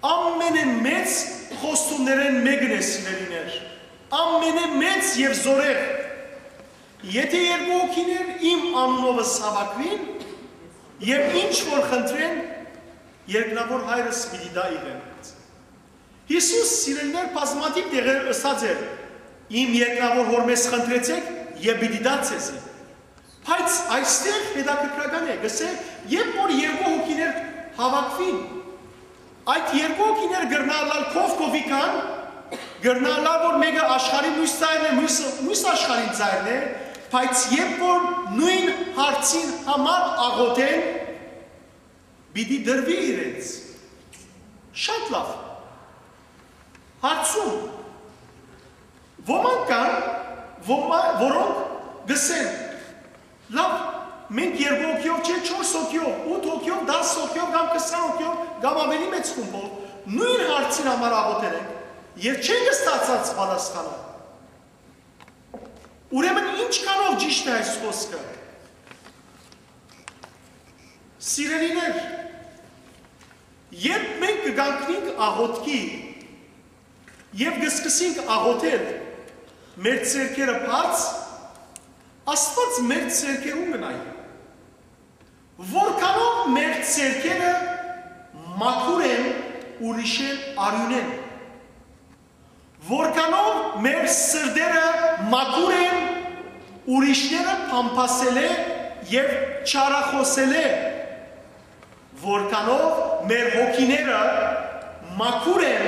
Ամենէ մեծ խոստումներէն մէկն է, սիրելիներ, ամենէ մեծ եւ զօրեղ։ «Եթէ երկու հոգիներ իմ անունովս հաւաքուին եւ ինչ որ խնդրեն, երկնաւոր Հայրս պիտի տայ իրեն»։ Յիսուս, սիրելիներ, բազմաթիւ տեղեր ըսած էր. «Իմ երկնաւոր Հօրմէս խնդրեցէք եւ պիտի տայ ձեզի»։ Բայց այստեղ հետաքրքրական է, կ'ըսէ, երբ որ երկու հոգիներ հաւաքուին, այդ երկու հոգիներ կրնայ ըլլալ քով քովի կան, կրնայ ըլլալ որ մէկը աշխարհի մյուս ծայրն է, մյուս, մյուս աշխարհին ծայրն է, բայց երբ որ նոյն հարցին համար աղօթեն, պիտի տրուի իրենց։ Շատ լաւ։ Հարցում։ Ոմանք կան, ոմա-, որոնք կ'ըսեն. «Լաւ, մենք երկու հոգիով չէ, չորս հոգիով, ութ հոգիով, տաս հոգիով կամ քսան հոգիով կամ աւելի մեծ խումբով նոյն հարցին համար աղօթեր ենք եւ չենք ստացած պատասխանը»։ Ուրեմն ինչքանով ճիշդ է այս խօսքը։ Սիրելիներ, երբ մենք կգանքնենք աղօթքի եւ կ'սկսենք աղօթել մեր ձեռքերը բաց, Աստուած մեր ձեռքերուն կը նայի։ Որքանով մեր ձեռքերը մաքուր են ուրիշէն արիւնէն, որքանով մեր սրտերը մաքուր են ուրիշները փամփասելէ եւ չարախօսելէ, որքանով մեր հոգիները Մաքուր են,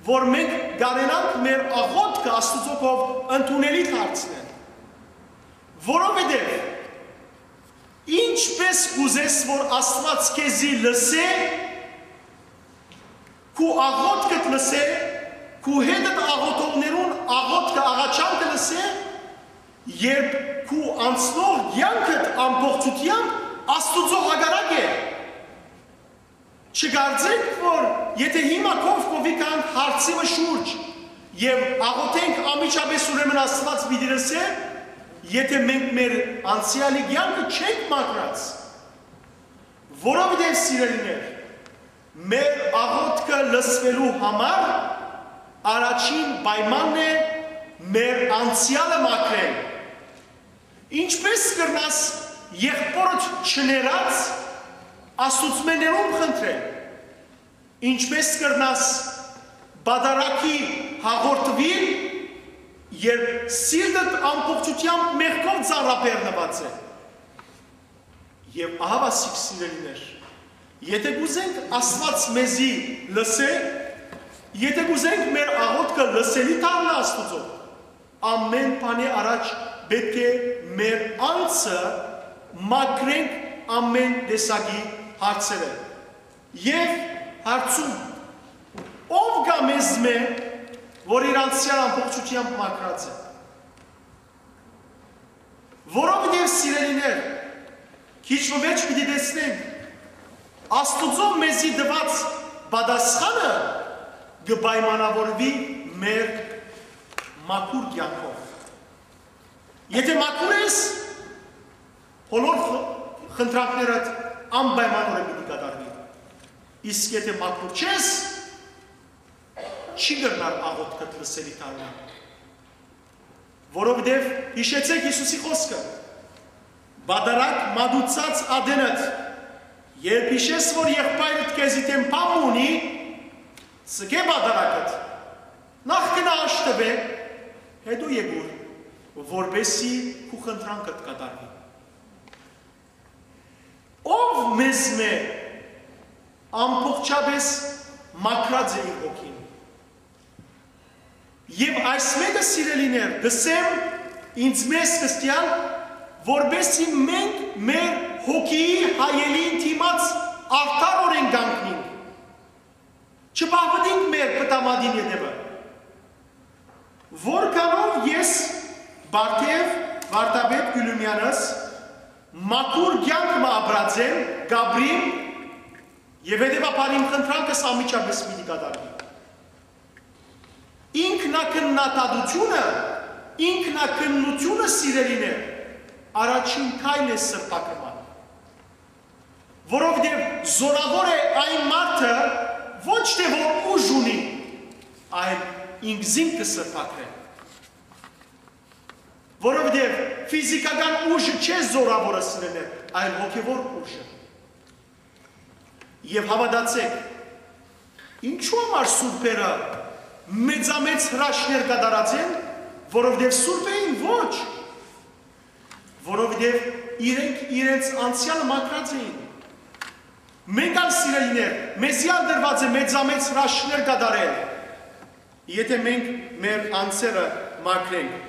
որ մենք կարենանք մեր աղոթքը Աստուծոյ կողմէ ընդունելի դարձնել, որովհետեւ ինչպէս կ'ուզես, որ Աստուած քեզի լսէ, քու աղոթքդ լսէ, քու հետդ աղոթողներուն աղոթքը, աղաչանքը լսէ, երբ քու անցնող կեանքդ ամբողջութեամբ Աստուծոյ հակառակ է։ Չկարծեք, որ եթե հիմա կողք կողքի գանք հարցի մը շուրջ եւ աղոթենք անմիջապէս, ուրեմն Աստուած պիտի լսէ, եթե մենք մեր անցեալի կեանքը չենք մաքրած, որովհետեւ, սիրելիներ, մեր աղոթքը լսուելու համար առաջին պայմանն է մեր անցեալը մաքրել։ Ինչպէս կրնաս եղբօրդ չներած Աստուծմէ ներում խնդրել։ Ինչպէս կրնաս պատարագի հաղորդուիլ, երբ սիրտդ ամբողջութեամբ մեղքով ծանրաբեռնուած է։ Եւ ահա, սիրելիներ, եթե կ'ուզենք Աստուած մեզի լսէ, եթե կ'ուզենք մեր աղոթքը լսելի դառնայ Աստուծոյ, ամէն բանի առաջ պէտք է մեր անձը մաքրենք ամէն տեսակի հարցերէ։ Եւ հարցում, ո՞վ կայ մեզմէ, որ իր անցեալը ամբողջութեամբ մաքրած է։ Որովհետեւ, սիրելիներ, քիչ մը վեր պիտի տեսնենք, Աստուծոյ մեզի տուած պատասխանը կը պայմանավորուի մեր մաքուր կեանքով։ Եթե մաքուր ես, բոլոր խ-, խնդրանքներդ անպայմանորեն պիտի կատարուի։ Իսկ եթե մաքուր չես, չի կրնար աղոթքդ լսելի դառնալ։ Որովհետեւ յիշեցէք Յիսուսի խօսքը. «Պատարագ մատուցած ատենդ, երբ յիշես, որ եղբայրդ քեզի դէմ բան մը ունի, ձգէ պատարագդ, նախ գնա աշտուէ, հետո եկուր, որպեսզի քու խնդրանքդ կատարուի»։ Ո՞վ մեզմէ ամբողջապէս մաքրած է իր հոգին։ Եւ այս մէկը, սիրելիներ, կ'ըսեմ ինձ մեզ կստիալ, որպեսզի մենք մեր հոգիի հայելին դիմաց արդարօրէն կանգնենք, չբաղբնենք մեր պտամատին ետեւը։ Որքանով ես Բարթեւ Վարդապետ Կիլումեանս մաքուր կեանք մը ապրած եմ, կ'ապրիմ, եւ հետեւաբար իմ խնդրանքս անմիջապէս պիտի կատարուի։ Ինքնակննադատութիւնը, ինքնակննութիւնը, սիրելիներ, առաջին քայլն է սրբագրման։ Որովհետեւ զօրաւոր է այն մարդը, ոչ թէ որ ուժ ունի, այլ ինքզինքը սրբագրել։ Որովհետեւ ֆիզիքական ուժը չէ զօրաւորը, սիրելիներ, այլ հոգեւոր ուժը։ Եւ հաւատացէք, ինչու համար սուրբերը մեծամեծ հրաշքներ կատարած են, որովհետեւ սուրբ էին, ոչ, որովհետեւ իրենք իրենց անցեալը մաքրած էին։ Մենք ալ, սիրելիներ, մեզի ալ տրուած է մեծամեծ հրաշքներ կատարել, եթե մենք մեր անձերը մաքրենք։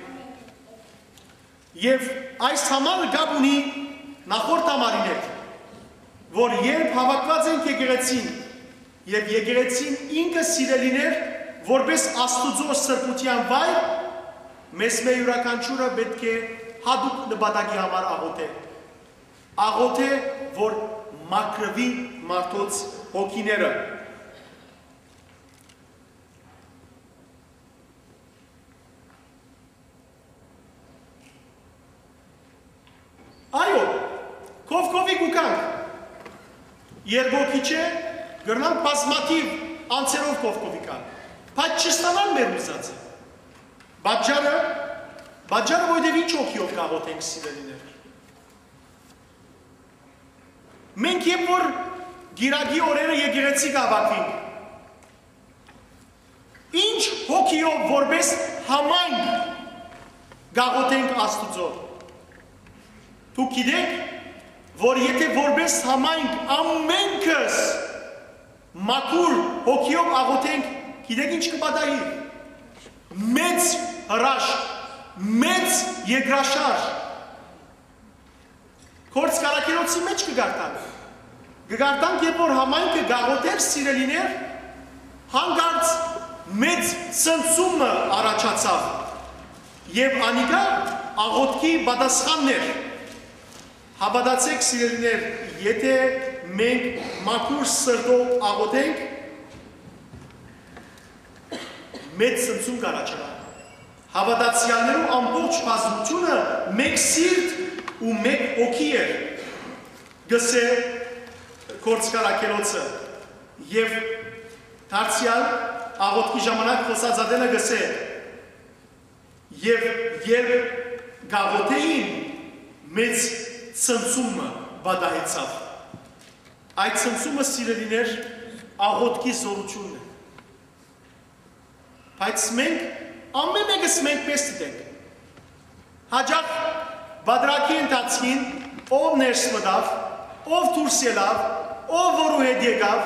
Եւ այս համարը կապ ունի նախորդ համարին հետ, որ երբ հաւաքուած ենք եկեղեցին, եւ եկեղեցին ինքը, սիրելիներ, որպէս Աստուծոյ սրբութեան վայր, մեզմէ իւրաքանչիւրը պէտք է յատուկ նպատակի համար աղօթէ։ Աղօթէ, որ մաքրուի մարդոց հոգիները։ Այո, կողք կողքի կու գանք։ Երկու քիչ է, կրնանք բազմաթիւ անձերով կողք կողքի գալ, բայց չստանալ մեր ուզածը։ Պատճառը, պատճառը, որովհետեւ ինչ հոգիով կաղոթենք, սիրելիներ։ Մենք երբ որ Կիրակի օրերը եկեղեցի կհաւաքվենք, ինչ հոգիով որպես համայնք կաղոթենք Աստուծոյ։ Դուք գիտեք, որ եթե որպես համայնք ամենքս մաքուր հոգիով աղոթենք, գիտեք ինչ կը պատահի։ Մեծ հրաշք, մեծ երկրաշարժ։ Գործք Առաքելոցի մէջ կը կարդանք։ Կը կարդանք, երբ որ համայնքը կ'աղոթէր, սիրելիներ, հանկարծ մեծ ցնցում մը առաջացաւ եւ անիկա աղոթքի պատասխանն էր։ Հաւատացէք, սիրելիներ, եթէ մենք մաքուր սրտով աղոթենք, մեծ ցնցում կ'առաջանայ։ Հաւատացեալներու ամբողջ բազմութիւնը մէկ սիրտ ու մէկ հոգի էր, կ'ըսէ Գործք Առաքելոցը, եւ դարձեալ աղոթքի ժամանակ խօսած ատենը կ'ըսէ. «Եւ երբ կ'աղոթէին, մեծ ցնցում մը պատահեցաւ»։ Այդ ցնցումը, սիրելիներ, աղոթքի զօրութիւնն է։ Բայց մենք, ամէն մէկս մենք պէս դիտենք։ Յաճախ պատրակի ընթացքին ով ներս մտաւ, ով դուրս ելաւ, ով որու հետ եկաւ,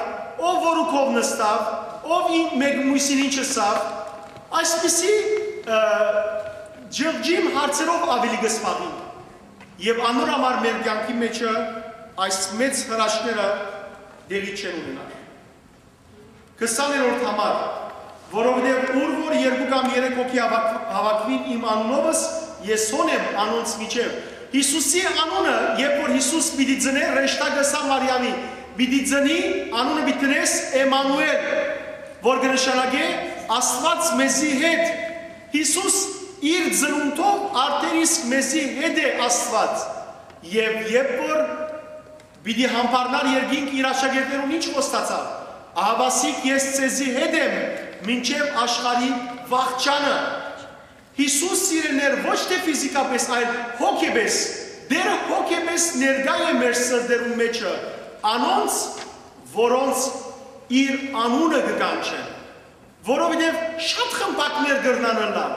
ով որու քով նստաւ, ով ի-, մէկ մոյսին ինչ ըսաւ, այսպիսի, ը, ջղջիմ հարցերով աւելի կը զբաղին։ Եւ անոր համար մեր կեանքի մէջը այս մեծ հրաշքները տեղի չեն ունենար։ Քսաներորդ համար, որովհետեւ ուր որ երկու կամ երեք հոգի հաւաք-, հաւաքուին իմ անունովս, ես հոն եմ անոնց միջեւ։ Յիսուսի անունը, երբ որ Յիսուս պիտի ծնէ, հրեշտակը ըսաւ Մարիամի, պիտի ծնի, անունը պիտի դնես Էմմանուէլ, որ կը նշանակէ Աստուած մեզի հետ։ Յիսուս իր ծնունդով արդեն իսկ մեզի հետ է Աստուած։ Եւ երբ որ պիտի համբարնար երկինք, իր աշակերտներուն ինչ խոստացաւ. «Ահաւասիկ ես ձեզի հետ եմ մինչեւ աշխարհի վախճանը»։ Յիսուս, սիրելիներ, ոչ թէ ֆիզիկապէս, այլ հոգեպէս, Տերը հոգեպէս ներկայ է մեր սրտերուն մէջը, անոնց, որոնց իր անունը կը կանչեն, որովհետեւ շատ խմբակներ կրնան ըլլալ։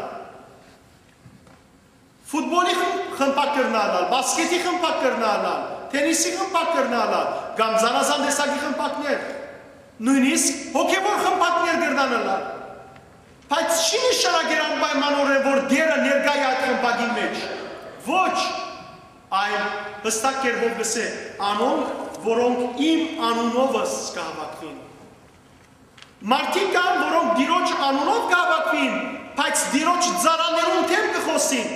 Ֆուտբոլի խմ-, խմբակ կրնայ ըլլալ, բասկեթի խմբակ կրնայ ըլլալ, թենիսի խմբակ կրնայ ըլլալ, կամ զանազան տեսակի խմբակներ, նոյնիսկ հոգեւոր խմբակներ կրնան ըլլալ։ Բայց չի նշանակեր անպայմանօրէն, որ Տերը ներկայ է այդ խմբակին մէջ։ Ոչ, այլ հստակ կերպով կ'ըսէ. «Անոնք, որոնք իմ անունովս կը հաւաքուին»։ Մարդիկ կան, որոնք Տիրոջ անունով կը հաւաքուին, բայց Տիրոջ ծառաներուն դէմ կը խօսին։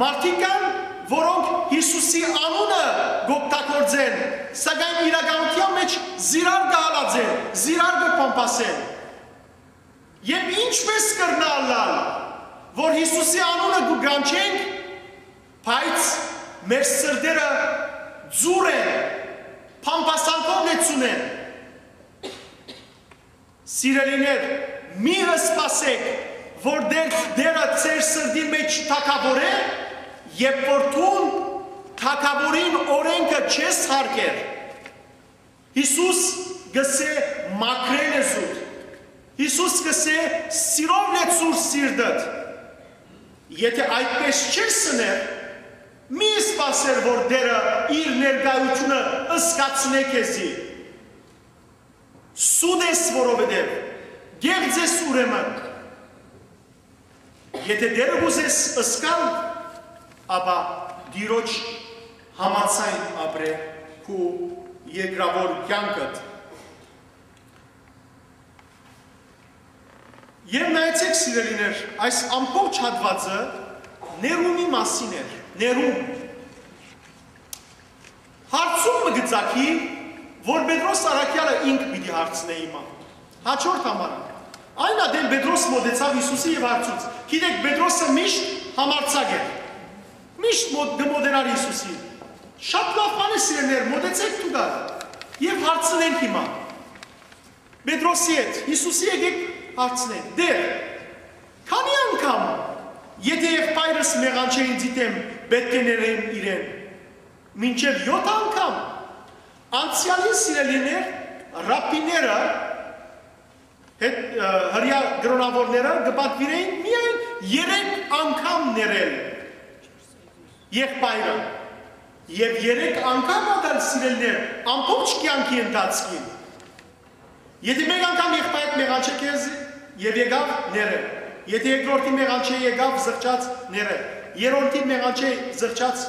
Մարդիկ կան, որոնք Յիսուսի անունը կ'օգտագործեն, սակայն իրականութեան մէջ զիրար կը հալածեն, զիրար կը փամփասեն։ Եւ ինչպէս կրնայ ըլլալ, որ Յիսուսի անունը կու կանչենք, բայց մեր սրտերը ձուռ են, փամփասանքով լեցուն են։ Սիրելիներ, մի սպասէք, որ Տեր-, Տերը ձեր սրտին մէջ թագաւորէ, երբ որ դուն թագաւորին օրէնքը չես հարգեր։ Յիսուս կ'ըսէ. «Մաքրէ լեզուդ»։ Յիսուս կ'ըսէ. «Սիրով լեցուր սիրտդ»։ Եթէ այդպէս չես ըներ, մի սպասեր, որ Տերը իր ներկայութիւնը զգացնէ քեզի։ Սուտ ես, որովհետեւ կեղծ ես ուրեմն։ Եթէ Տերը կ'ուզես զգալ, ապա Տիրոջ համաձայն ապրէ քու երկրաւոր կեանքդ։ Եւ նայեցէք, սիրելիներ, այս ամբողջ հատուածը ներումի մասին էր, ներում։ Հարցում մը կը ծագի, որ Պետրոս առաքեալը ինք պիտի հարցնէ հիմա։ Հաջորդ համարը։ Այն ատեն Պետրոս մօտեցաւ Յիսուսի եւ հարցուց։ Գիտեք, Պետրոսը միշտ համարձակ էր։ Միշտ մոտ-, կը մոտենար Յիսուսին։ Շատ լաւ բան է, սիրելիներ, մոտեցեք դուք ալ եւ հարցնենք հիմա։ Պետրոսի հետ, Յիսուսի եկեք հարցնենք. «Տեր, քանի՞ անգամ, եթէ եղբայրս մեղանչէ ինձի դէմ, պէտք է ներեմ իրեն։ Մինչեւ եօթ անգամ»։ Անցեալին, սիրելիներ, ռաբբիները, հետ, ը, հրեայ կրօնաւորները կը պատուիրէին միայն երեք անգամ ներել եղբայրը։ Եւ երեք անգամ ատալ, սիրելիներ, ամբողջ կեանքի ընթացքին։ Եթէ մէկ անգամ եղբայրդ մեղանչէ քեզ եւ եկաւ, ներէ։ Եթէ երկրորդին մեղանչէ, եկաւ, զղջաց, ներէ։ Երրորդին մեղանչէ, զղջաց,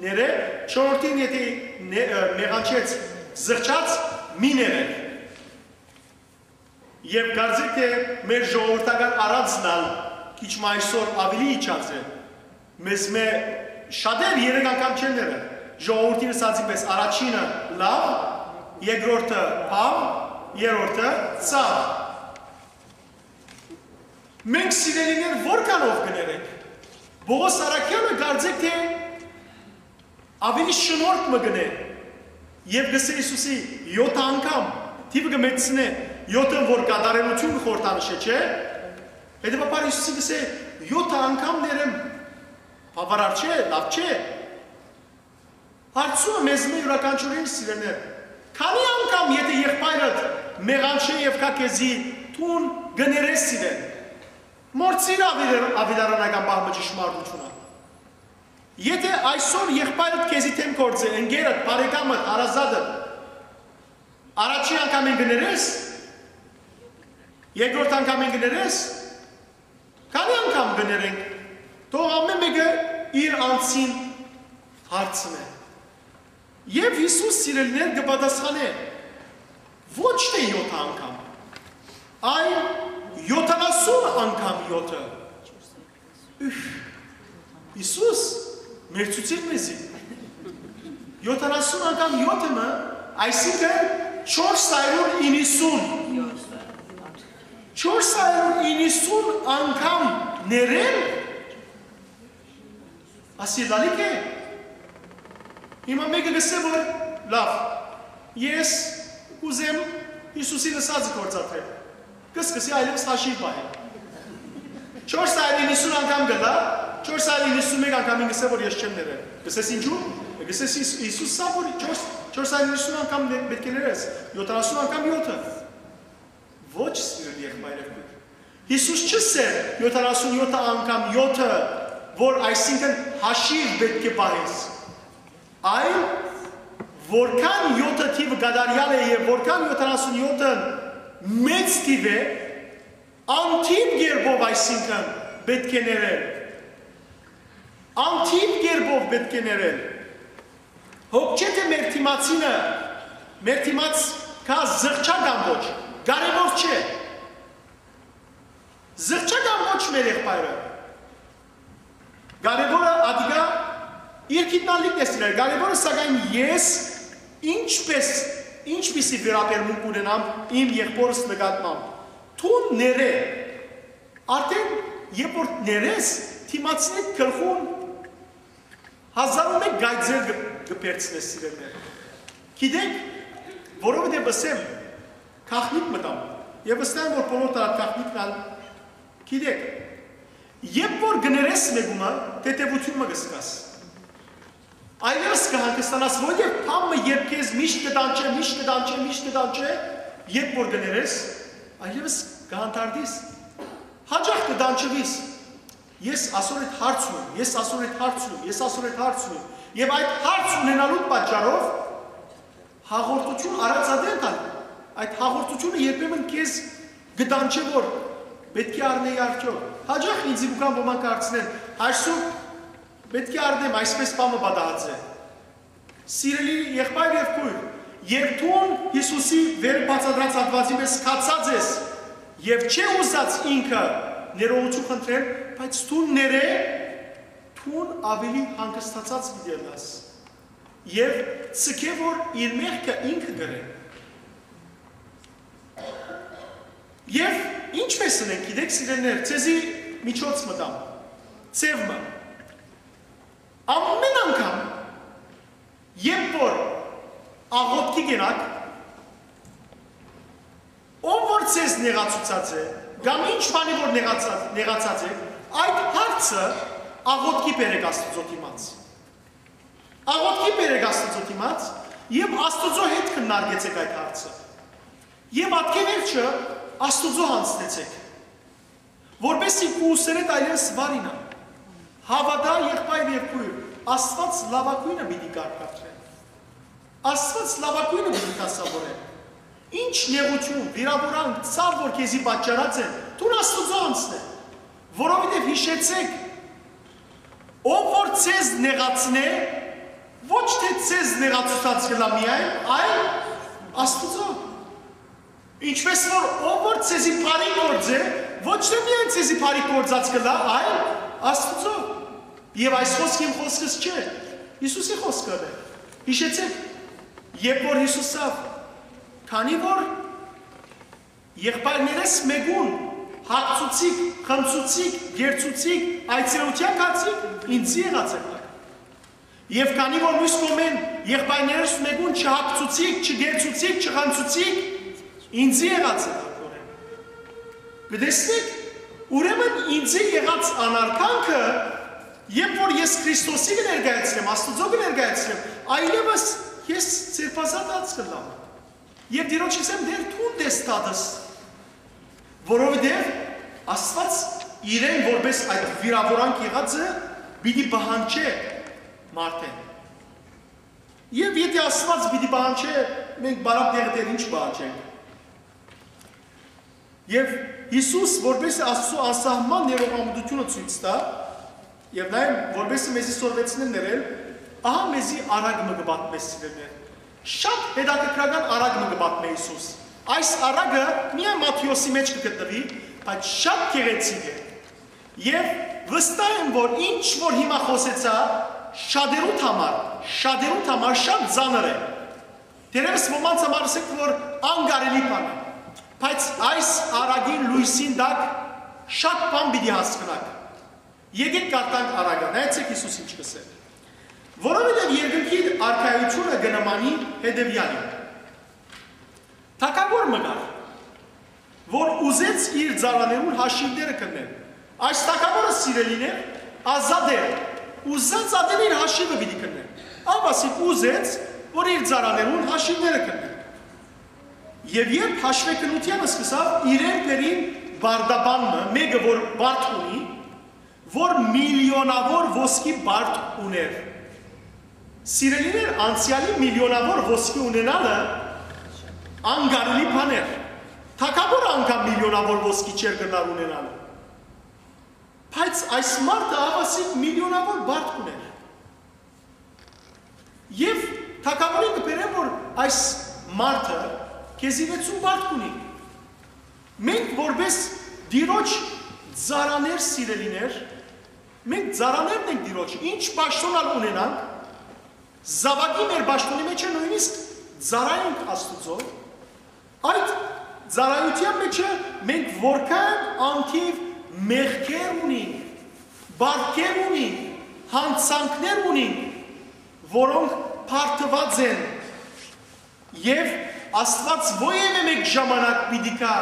ներէ։ Չորրորդին եթէ մեղանչեց, զղջաց, մի ներէ։ Եւ կարծեք թէ մեր ժողովրդական արածն ալ քիչ մը այսօր աւելի իջած է։ Մեզմէ շատեր երեք անգամ չեն ները։ Ժողովուրդին ըսածի պէս, առաջինը լաւ, երկրորդը բաւ, երրորդը ցաւ։ Մենք, սիրելիներ, որքանով կներենք։ Պողոս առաքյալը կարծեք թէ աւելի շնորհք մը կ'ընէ եւ կ'ըսէ Յիսուսի, յոթ անգամ, թիւը կը մեծցնէ, յոթը որ կատարելութիւն խորհրդանշ է, չէ՞։ Հետեւաբար Յիսուսի կ'ըսէ, յոթ անգամ ներեմ, բաւարար չէ, լաւ չէ։ Հարցումը մեզմէ յուրաքանչիւրին, սիրելիներ, քանի՞ անգամ եթէ եղբայրդ մեղանչէ եւ գայ քեզի, դուն կ'ըներես իրեն։ Մոռցիր աւիլարանական պահ մը ճշմարտութիւնը։ Եթէ այսօր եղբայրդ քեզի դէմ գործէ, ընկերդ, բարեկամդ, հարազատդ, առաջին անգամէն կ'ըներես, երկրորդ անգամէն կ'ըներես, քանի՞ անգամ կ'ըներենք, թող ամէն մէկը իր անձին հարցնէ։ Եւ Յիսուս, սիրելիներ, կը պատասխանէ, ոչ թէ յոթ անգամ, այլ յոթանասուն անգամ յոթը։ Ուրհ, Յիսուս, մերցուցիր մեզի։ Յոթանասուն անգամ յոթը մը, այսինքն չորս հարիւր իննսուն։ Չորս հարիւր իննսուն անգամ ներել, ասի լալի՞ք է։ Հիմա մէկը կ'ըսէ որ, լաւ, ես կ'ուզեմ Յիսուսին ըսածը գործադրել։ Կը սկսի այլեւս հաշիւ պահել։ Չորս հարիւր իննսուն անգամ կ'ըլլայ, չորս հարիւր իննսուն մէկ անգամին կ'ըսէ որ ես չեմ ներել։ Կ'ըսես ինչու՞։ Կ'ըսես Յիս-, Յիսուս սա որ չորս, չորս հարիւր իննսուն անգամ ներ-, պէտք է ներես, յոթանասուն անգամ յոթը։ Ոչ, սիրելի եղբայր եւ քույր։ Յիսուս չ'ըսեր յոթանասուն յոթ անգամ յոթը, որ այսինքն հաշիւ պէտք է պահես, այլ որքան յոթը թիվը կատարեալ է եւ որքան յոթանասուն յոթը մեծ թիվ է, անթիվ կերպով այսինքն պէտք է ներել, անթիվ կերպով պէտք է ներել։ Հոգ չէ թէ մեր դիմացինը, մեր դիմաց կայ զղջայ կամ ոչ, կարեւոր չէ։ Զղջայ կամ ոչ մեր եղբայրը, կարեւորը ատիկա իր գիտնալիքն է սիրել, կարեւորը սակայն ես ինչպես, ինչպիսի վերաբերմունք ունենամ իմ եղբորս նկատմամբ։ Դուն ներէ, արդեն երբ որ ներես, դիմացին գլխուն հազար ու մէկ կայծեր կը, կը բերցնես, սիրելիներ։ Գիտեք, որովհետեւ ըսեմ, գաղտնիք մտամ, եւ վստահ եմ որ բոլոր տարած գաղտնիքն ալ գիտեք, երբ որ կ'ըներես մէկումը, թեթեւութիւն մը կը զգաս, այլեւս կը հանգստանաս, որովհետեւ բան մը երբ քեզ միշտ կը տանջէ, միշտ կը տանջէ, միշտ կը տանջէ, երբ որ կ'ըներես, այլեւս կը հանդարտիս, հաճախ կը տանջուիս։ Ես ասոր հետ հարց ունեմ, ես ասոր հետ հարց ունեմ, ես ասոր հետ հարց ունեմ։ Եւ այդ հարց ունենալուդ պատճառով հաղորդութիւն առած ատեն տալ։ Այդ հաղորդութիւնը երբեմն քեզ կը տանջէ որ պէտք է առնեի արդեօք։ Հաճախ ինձի կու գան ոմանք հարցնեն, այսօր պէտք է առնեմ, այսպես բան մը պատահած է։ Սիրելի եղբայր եւ քույր, երբ դուն Յիսուսի վեր բացատրած հատուածի պես քացած ես եւ չէ ուզած ինքը ներողություն խնդրել, բայց դուն ներէ, դուն աւելի հանգստացած պիտի ըլլաս եւ ցկէ որ իր մեղքը ինքը կրէ։ Եւ ինչպես ընենք, գիտեք, սիրելիներ, ձեզի միջոց մտամ, ձեւ մը։ Ամեն անգամ, երբ որ աղօթքի կենաք, ով որ ձեզ նեղացուցած է, կամ ինչ բանի որ նեղացած, նեղացած է, այդ հարցը աղօթքի բերեք Աստուծոյ դիմաց։ Աղօթքի բերեք Աստուծոյ դիմաց եւ Աստուծոյ հետ քննարկեցեք այդ հարցը։ Եւ ատկէ վերջը Աստուծոյ յանձնեցեք, որպեսզի կուսերէդ այլևս վարինան։ Հաւատա, եղբայր եւ քույր, Աստուած լաւագոյնը պիտի կարգադրէ։ Աստուած լաւագոյնը պիտի դասաւորէ։ Ինչ նեղութիւն, վիրաւորանք, ցաւ որ քեզի պատճառած են, դուն Աստուծոյ անցնէ, որովհետեւ յիշեցէք, ով որ ձեզ նեղացնէ, ոչ թէ ձեզ նեղացուցած կ'ըլլայ միայն, այլ Աստուծոյ։ Ինչպէս որ ով որ ձեզի բարի գործ է, ոչ թէ միայն ձեզի բարի գործած կ'ըլլայ, այլ Աստուծոյ։ Եւ այս խօսքը իմ խօսքս չէ, Յիսուսի խօսքն է։ Յիշեցէք, երբ որ Յիսուսը, քանի որ եղբայրներէս մէկուն հագցուցիք, խմցուցիք, գերցուցիք, այցելութեան գացիք, ինծի եղած եք։ Եւ քանի որ միւս կողմէն եղբայրներէս մէկուն չհագցուցիք, չգերցուցիք, չխմցուցիք, ինծի եղած եք ատորեն։ Կը տեսնեք, ուրեմն ինծի եղած անարգանքը, երբ որ ես Քրիստոսի կը ներկայացնեմ, Աստուծոյ կը ներկայացնեմ, այլեւս ես ձերբազատած կ'ըլլամ։ Եւ Տիրոջս ըսեմ, Տէր, դուն տես դատս, որովհետեւ Աստուած իրեն որպէս այդ վիրաւորանք եղածը պիտի պահանջէ մարդէն։ Եւ եթէ Աստուած պիտի պահանջէ, մենք բարակ դեղը դեռ ինչ պահանջենք։ Եւ Յիսուս որպէս Աստուծոյ անսահման ներողամտությունը ցոյց տայ, եւ նաեւ որպէս մեզի սորվեցնեն ներել, ահա մեզի արագ մը կը պատմէ, սիրելիներ։ Շատ հետաքրքրական արագ մը կը պատմէ Յիսուս։ Այս արագը միայն Մատթէոսի մէջ կը գտնուի, բայց շատ գեղեցիկ է։ Եւ վստահ եմ, որ ինչ որ հիմա խօսեցայ, շատերուդ համար, շատերուդ համար շատ ծանր է։ Դերևս ոմանց համար ասենք, որ անկարելի բան է, բայց այս արագին լոյսին տակ շատ բան պիտի հասկնաք։ Եկեք կարդանք արագը, նայեցեք Յիսուս ինչ կ'ըսէ։ Որովհետեւ երկնքի արքայութիւնը կը նմանի հետեւեալին։ Թագաւոր մը կար, որ ուզեց իր ծառաներուն հաշիւները քննել։ Այս թագաւորը, սիրելիներ, ազատ էր, ուզած ատեն իր հաշիւը պիտի քննէ։ Ահա ասիկ ուզեց, որ իր ծառաներուն հաշիւները քննէ։ Եւ երբ հաշուեքննութեանը սկսաւ, իրեն բերին բարդաբան մը, մէկը որ բարդ ունի, որ միլիոնաւոր ոսկի բարդ ունէր։ Սիրելիներ, անցեալի միլիոնաւոր ոսկի ունենալը անկարելի բան էր։ Թագաւորը անգամ միլիոնաւոր ոսկի չէր կրնար ունենալ։ Բայց այս մարդը ահա ասիկ միլիոնաւոր բարդ ունէր։ Եւ թագաւորին կը բերեն, որ այս մարդը քեզի վեցուն բարդ կունի։ Մենք որպես Տիրոջ ծառաներ, սիրելիներ, մենք ծառաներն ենք Տիրոջ, ինչ պաշտոն ալ ունենանք, զաւակի մեր պաշտոնի մեջ է նոյնիսկ ծառայենք Աստուծոյ, այդ ծառայութեան մեջ է մենք որքան անթիւ մեղքեր ունենք, բարքեր ունենք, յանցանքներ ունենք, որոնք բարդուած են, եւ Աստուած ովեւէ մէկ ժամանակ պիտի գայ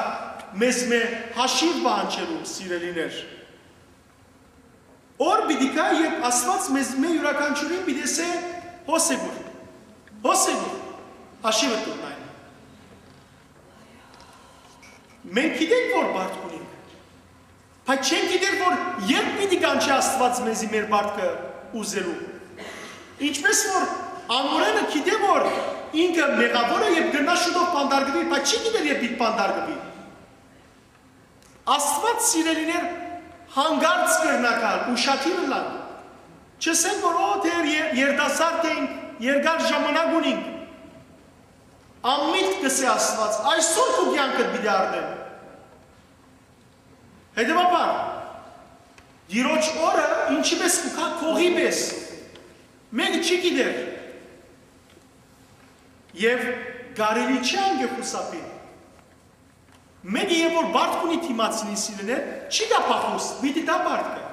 մեզմէ հաշիւ պահանջելու, սիրելիներ։ Օր պիտի գայ, երբ Աստուած մեզմէ իւրաքանչիւրին պիտի ըսէ. «Հոս եկուր, հոս եկուր, հաշիւը տուր այն»։ Մենք գիտենք, որ բարդ ունենք, բայց չենք գիտեր, որ երբ պիտի կանչէ Աստուած մեզի մեր բարդքը ուզելու։ Ինչպես որ անօրէնը գիտէ, որ ինքը մեղաւոր է եւ կրնայ շուտով բանտարկուի, բայց չի գիտեր, երբ պիտի բանտարկուի։ Աստուած, սիրելիներ, յանկարծ կրնայ գալ, ուշադիր ըլլալ։ Չըսենք, որ «Օ, դեռ ե-, երիտասարդ ենք, երկար ժամանակ ունենք»։ Անմիտ կ'ըսէ Աստուած. «Այսօր քու կեանքդ պիտի առնեմ»։ Հետեւաբար, Տիրոջ օրը ինչի պէս կու գայ, կողի պէս։ Մեկը չի գիտեր։ Եւ կարելի չի անգե խուսափիլ։ Մեկը, երբ որ բարդ կունի դիմացինի, սիրելիներ, չի գա փախուստ, պիտի տայ բարդը։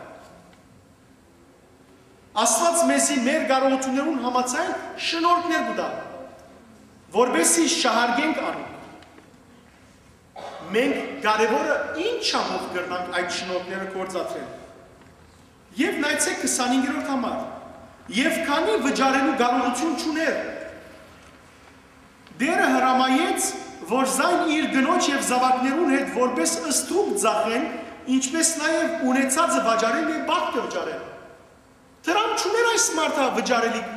Աստուած մեզի մեր կարողութիւններուն համաձայն շնորհքներ կու տայ, որպեսզի շահարկենք անոնք։ Մենք կարեւորը ինչա՞վ կրնանք այդ շնորհքները գործադրել։ Եւ նայեցեք քսանհինգերորդ համար։ «Եւ քանի վճարելու կարողութիւն չունէր, Տէրը հրամայեց, որ զայն իր կնոջ եւ զաւակներուն հետ որպէս ստրուկ ծախեն, ինչպէս նաեւ ունեցածը վաճառեն եւ բարդքը վճարեն»։ Դրամ չունէր այս մարդը վճարելիք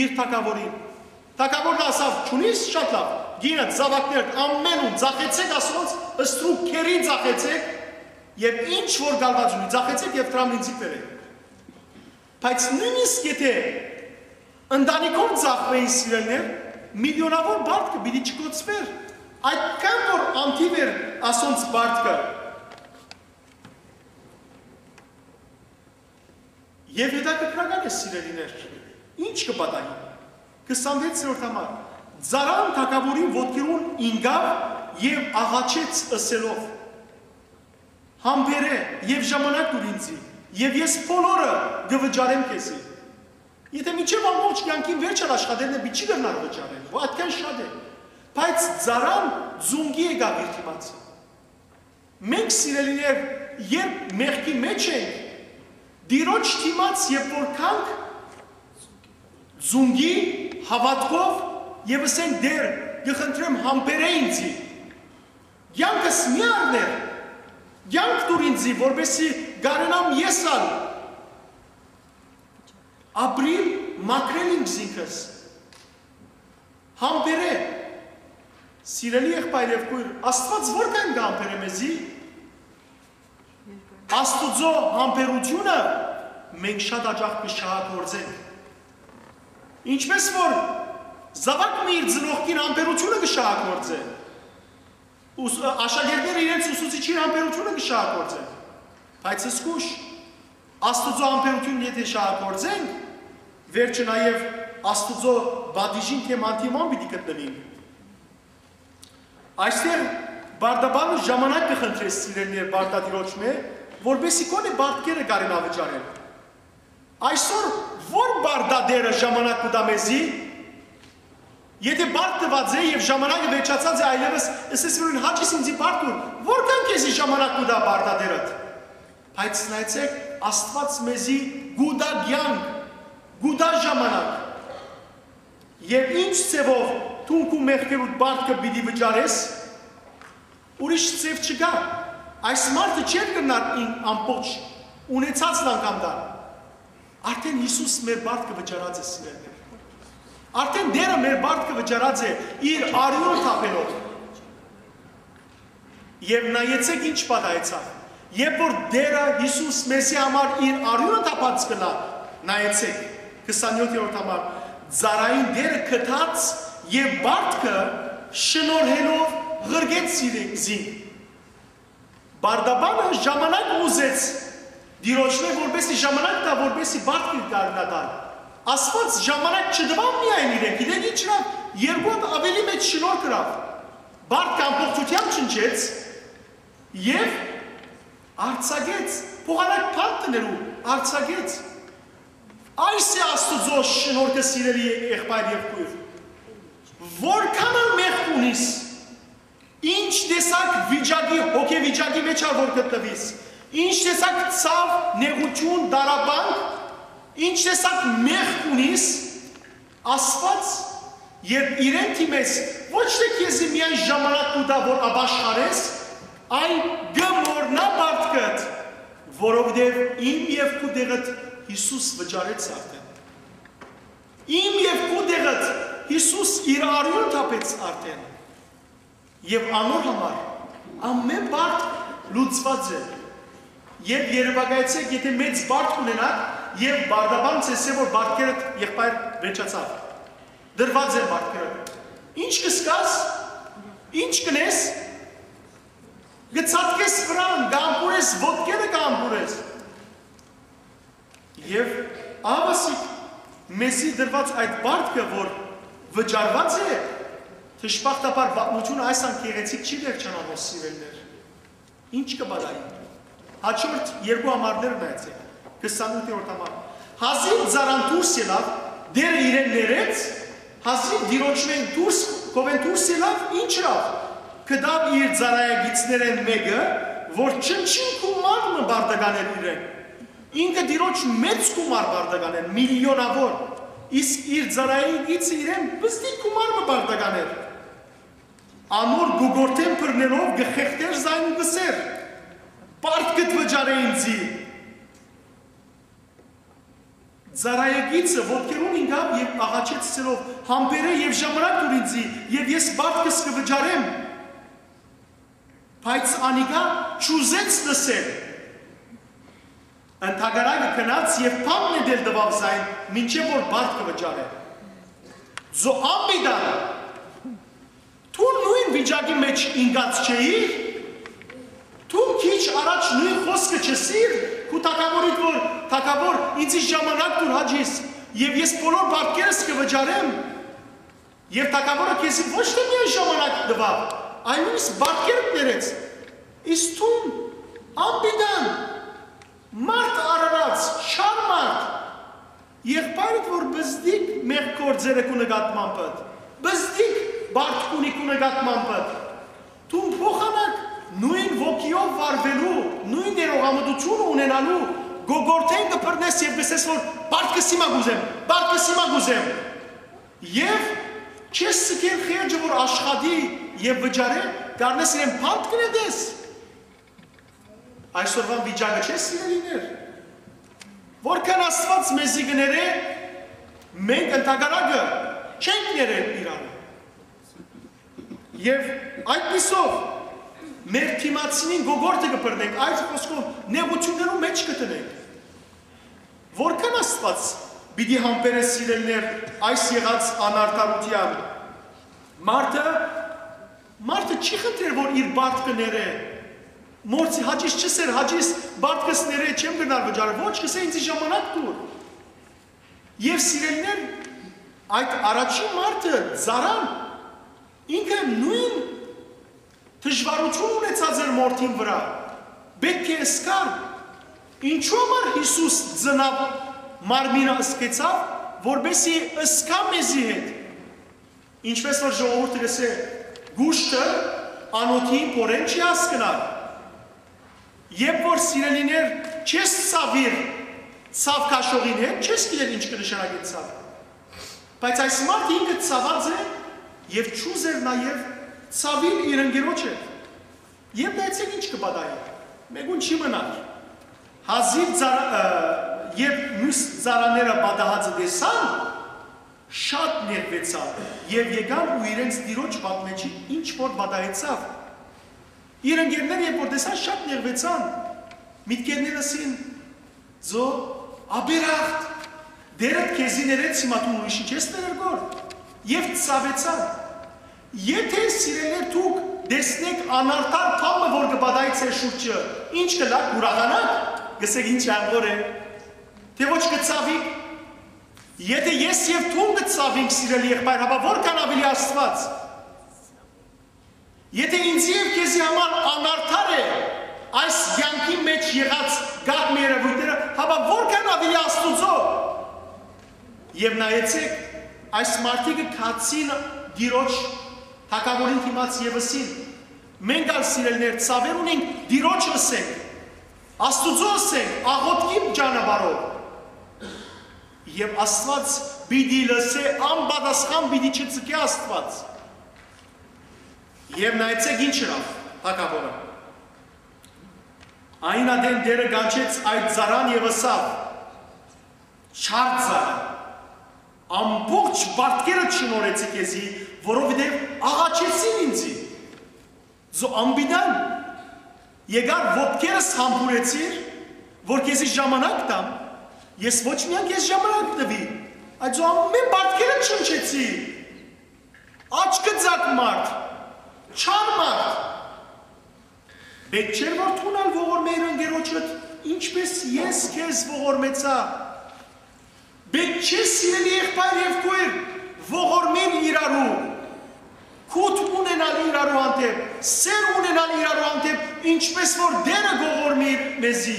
իր թագաւորին։ Թագաւորը ըսաւ. «Չունի՞ս, շատ լաւ, կինդ, զաւակներդ, ամէն ուն, ծախեցէք ասոնց, ստրուկ գերի ծախեցէք, եւ ինչ որ գալուած ունի, ծախեցէք եւ դրան ինծի բերէք»։ Բայց նոյնիսկ եթէ ընտանիքով ծախուէին, սիրելիներ, միլիոնաւոր պարտքը պիտի չկոչուէր, այդքան որ անթիւ էր ասոնց պարտքը։ Եւ հետաքրքրական է, սիրելիներ, ինչ կը պատահի։ Քսանվեցերորդ համար. «Ծառան թագաւորին ոտքերուն ինկաւ եւ աղաչեց, ըսելով. "Համբերէ եւ ժամանակ տուր ինծի, եւ ես բոլորը կը վճարեմ քեզի"։ Եթէ մինչեւ ամբողջ կեանքին վերջը աշխատելն է, պիտի չի կրնար վճարել, որ այդքան շատ է։ Բայց ծառան զունկի եկաւ իր դիմաց։ Մենք, սիրելիներ, երբ մեղքի մեջ ենք, Տիրոջ դիմաց երբ որ գանք, զունկի, հաւատքով, եւ ըսենք. "Տէր, կը խնդրեմ, համբերէ ինծի, կեանքս մի առներ, կեանք տուր ինծի, որպեսզի կարենամ ես ալ ապրիլ, մաքրել ինքզինքս"։ Համբերէ, սիրելի եղբայր եւ քոյր, Աստուած որքան կը համբերէ մեզի։ Աստուծոյ համբերութիւնը մենք շատ յաճախ կը շահագործենք։ Ինչպէս որ զաւակ մը իր ծնողքին համբերութիւնը կը շահագործէ, ուս-, աշակերտները իրենց ուսուցիչին համբերութիւնը կը շահագործեն, բայց զգուշ, Աստուծոյ համբերութիւնը եթէ շահագործենք, վերջը նաեւ Աստուծոյ պատիժին թէ անդիման պիտի գտնուինք։ Այստեղ պարտաբանը ժամանակ կը խնդրէ, սիրելիներ, պարտատիրոջմէ, որպեսզի գոնէ պարտքերը կարենայ վճարել։ Այսօր ո՞ր պարտատէրը ժամանակ կու տայ մեզի, եթէ պարտք տուած է եւ ժամանակը վերջացած է, այլեւս ըսես որ հաճիս ինձի պարտք տուր, որքան քեզի ժամանակ կու տայ պարտատէրդ։ Բայց նայեցէք, Աստուած մեզի կու տայ կեանք, կու տայ ժամանակ։ Եւ ինչ ձեւով դուն քու մեղքերուդ պարտքը պիտի վճարես, ուրիշ ձեւ չկայ։ Այս մարդը չէր կրնար ին ամբողջ ունեցածն անգամ տալ։ Արդէն Յիսուս մեր պարտքը վճարած է, սիրելիներ։ Արդէն Տէրը մեր պարտքը վճարած է իր արիւնը թափելով։ Եւ նայեցէք ինչ պատահեցաւ։ Երբ որ Տէրը Յիսուս մեզի համար իր արիւնը թափած կ'ըլլայ, նայեցէք, քսանեօթերորդ համար, ծառային Տէրը գթաց եւ պարտքը շնորհելով ղրկեց իրեն, զինք։ Պարտաբանը ժամանակ ուզեց Տիրոջմէ, որպեսզի ժամանակ տայ, որպեսզի պարտքը կարենայ տալ։ Աստուած ժամանակ չտուաւ միայն իրեն, գիտէք ինչ ըրաւ, երկու հատ աւելի մեծ շնորհք ըրաւ։ Պարտքը ամբողջութեամբ ջնջեց եւ արձակեց, փոխանակ պարտքներու արձակեց։ Այս է Աստուծոյ շնորհքը, սիրելի եղբայր եւ քոյր։ Որքան ալ մեղք ունիս, ինչ տեսակ վիճակի, հոգեվիճակի մեջ ալ որ գտնուիս, ինչ տեսակ ցաւ, նեղութիւն, տառապանք, ինչ տեսակ մեղք ունիս, Աստուած երբ իրեն դիմես, ոչ թէ քեզի միայն ժամանակ կու տայ որ ապաշխարես, այլ կը մոռնայ պարտքդ, որովհետեւ իմ եւ քու տեղդ Յիսուս վճարեց արդէն։ Իմ եւ քու տեղդ Յիսուս իր արիւնը թափեց արդէն։ Եւ անոր համար ամէն պարտք լուծուած է։ Եւ երեւակայեցէք, եթէ մեծ պարտք ունենաք, եւ պարտաբան ձեզի, որ պարտքերդ, եղբայր, վերջացաւ, դրուած են պարտքերը, ինչ կ'ըսկաս, ինչ կ'ընես, կը ցատկես վրան, կ'ամբուրես, ոտքերը կ'ամբուրես։ Եւ ահա ասիկ, մեզի դրուած այդ պարտքը որ վճարուած է, դժբախտաբար պատմութիւնը այս անգեղեցիկ չի վերջանալու, սիրելիներ։ Ինչ կը պատահի։ Հաջորդ երկու համարները նայեցէք, քսանութերորդ համար։ Հազիւ ծառան դուրս ելաւ, Տէրը իրեն ներեց, հազիւ Տիրոջմէն դուրս, քովէն դուրս ելաւ, ինչ ըրաւ։ Գտաւ իր ծառայակիցներէն մէկը, որ չնչին գումար մը պարտական էր իրեն։ Ինքը Տիրոջ մեծ գումար պարտական էր, միլիոնաւոր, իսկ իր ծառայակիցը իրեն պզտիկ գումար մը պարտական էր։ Անոր գուգորտէն բռնելով կը խեղդէր զայն ու կ'ըսէր. "Պարտքդ վճարէ ինծի"։ Ծառայեկիցը ոտքերուն ինկաւ եւ աղաչեց, ըսելով. «Համբերէ եւ ժամանակ տուր ինծի, եւ ես պարտքս կը վճարեմ»։ Բայց անիկա չուզեց լսել։ Ընդհակառակը գնաց եւ բանտ նետել տուաւ զայն, մինչեւ որ պարտքը վճարէ։ Զո անպիտան դուն նոյն վիճակի մէջ ինկած չէիր, դուն քիչ առաջ նոյն խօսքը չըսիր քու թագաւորիդ, որ թագաւոր, ինձի ժամանակ տուր, հաճիս, եւ ես բոլոր պարտքերս կը վճարեմ։ Եւ թագաւորը քեզի ոչ թե միայն ժամանակ տուաւ, այլ նոյնիսկ պարտքերդ ներեց։ Իսկ դուն անպիտան, մարդ արարած, չար մարդ, եղբայրդ որ բզդիկ մեղք գործերը քու նկատմամբդ, բզդիկ պարտք ունի քու նկատմամբդ, դուն փոխանակ նոյն ոգիով վարուելու, նոյն ներողամտությունը ունենալու, գոգորթէն կը բռնես եւ կ'ըսես, որ պարտքս հիմա կ'ուզեմ, պարտքս հիմա կ'ուզեմ։ Եւ չես սկեր խերջը որ աշխատի եւ վճարէ, կ'առնես իրեն բանտ կը նետես։ Այսօրվան վիճակը չէ, սիրելիներ։ Որքան Աստուած մեզի կը ներէ, մենք ընդհակառակը չենք ներեր իրարու։ Եւ այդպիսով մեր դիմացինին գոգորտը կը բռնենք, այս խոսքով նեղութիւններու մէջ կը դնենք։ Որքան Աստուած պիտի համբերէ, սիրելիներ, այս եղած անարդարութեան։ Մարդը, մարդը չի խնդրեր որ իր պարտքը ներէ։ Մորցի, հաճիս չըսեր, հաճիս պարտքս ներէ, չեմ կրնար վճարել։ Ոչ, կ'ըսէ, ինձի ժամանակ տուր։ Եւ սիրելիներ, այդ առաջին մարդը, ծառան, ինքը նոյն դժուարութիւն ունեցած էր մորթին վրայ, պէտք է զգար։ Ինչո՞ւ համար Յիսուս ծնաւ, մարմինը զգեցաւ, որպէսզի զգայ մեզի հետ։ Ինչպէս որ ժողովուրդը կ'ըսէ, կուշտը անօթին փորեն չի հասկնար։ Երբ որ, սիրելիներ, չես ցաւիր ցաւ քաշողին հետ, չես գիտեր ինչ կը նշանակէ ցաւ։ Բայց այս մարդը ինքը ցաւած է եւ չուզեր նաեւ ցաւիլ իր ընկերոջ հետ։ Եւ նայեցէք ինչ կը պատահի։ Մէկուն չի մնար։ Հազիւ ծառ-, ը, երբ միւս ծառաները պատահածը տեսան, շատ նեղուեցան եւ եկան ու իրենց տիրոջ պատմեցին ինչ որ պատահեցաւ։ Իր ընկերները երբ որ տեսան, շատ նեղուեցան, միտքերներս ին զո աբերախտ, Տէրդ քեզի ներեց, հիմա դուն ուրիշի չես ներեր գոր։ Եւ ցաւեցան։ Եթէ, սիրելիներ, դուք տեսնէք անարդար բան մը որ կը պատահի ձեր շուրջը, ինչ կ'ըլաք, կ'ուրախանաք, կ'ըսէք, ինչ աղոր է, թէ ոչ կ'ցաւիք։ Եթէ ես եւ դուն կ'ցաւինք, սիրելի եղբայր, հապա որքան աւելի Աստուած։ Եթէ ինձի եւ քեզի համար անարդար է այս կեանքի մէջ եղած կաթ մը երեւոյթները, հապա որքան աւելի Աստուծոյ։ Եւ նայեցէք, այս մարդիկը գացին Տիրոջ թագաւորին դիմաց եւ ըսին. «Մենք ալ, սիրելիներ, ցաւեր ունենք, Տիրոջ ըսենք, Աստուծոյ ըսենք, աղօթքի ճանապարհով»։ Եւ Աստուած պիտի լսէ, անպատասխան պիտի չցկէ Աստուած։ Եւ նայեցէք ինչ ըրաւ թագաւորը։ Այն ատեն Տէրը կանչեց այդ ծառան եւ ըսաւ. «Չար ծառայ, ամբողջ պարտքերը չնորեցի քեզի, որովհետեւ աղաչեցին ինձի։ Զո անպիտան եկար ոտքերս համբուրեցիր, որ քեզի ժամանակ տամ, ես ոչ միայն քեզ ժամանակ տուի, այլ զո ամէն պարտքերը չնչեցի։ Աչքը ձակ մարդ, չար մարդ։ Պետք չէ՞ր որ դուն ալ ողորմէիր ընկերոջդ, ինչպես ես քեզ ողորմեցայ։ Պետք չէ, սիրելի եղբայր եւ քոյր, ողորմել իրարու, կոթ ունենալ իրարու հանդէպ, սեր ունենալ իրարու հանդէպ, ինչպես որ Տէրը կողորմի մեզի»։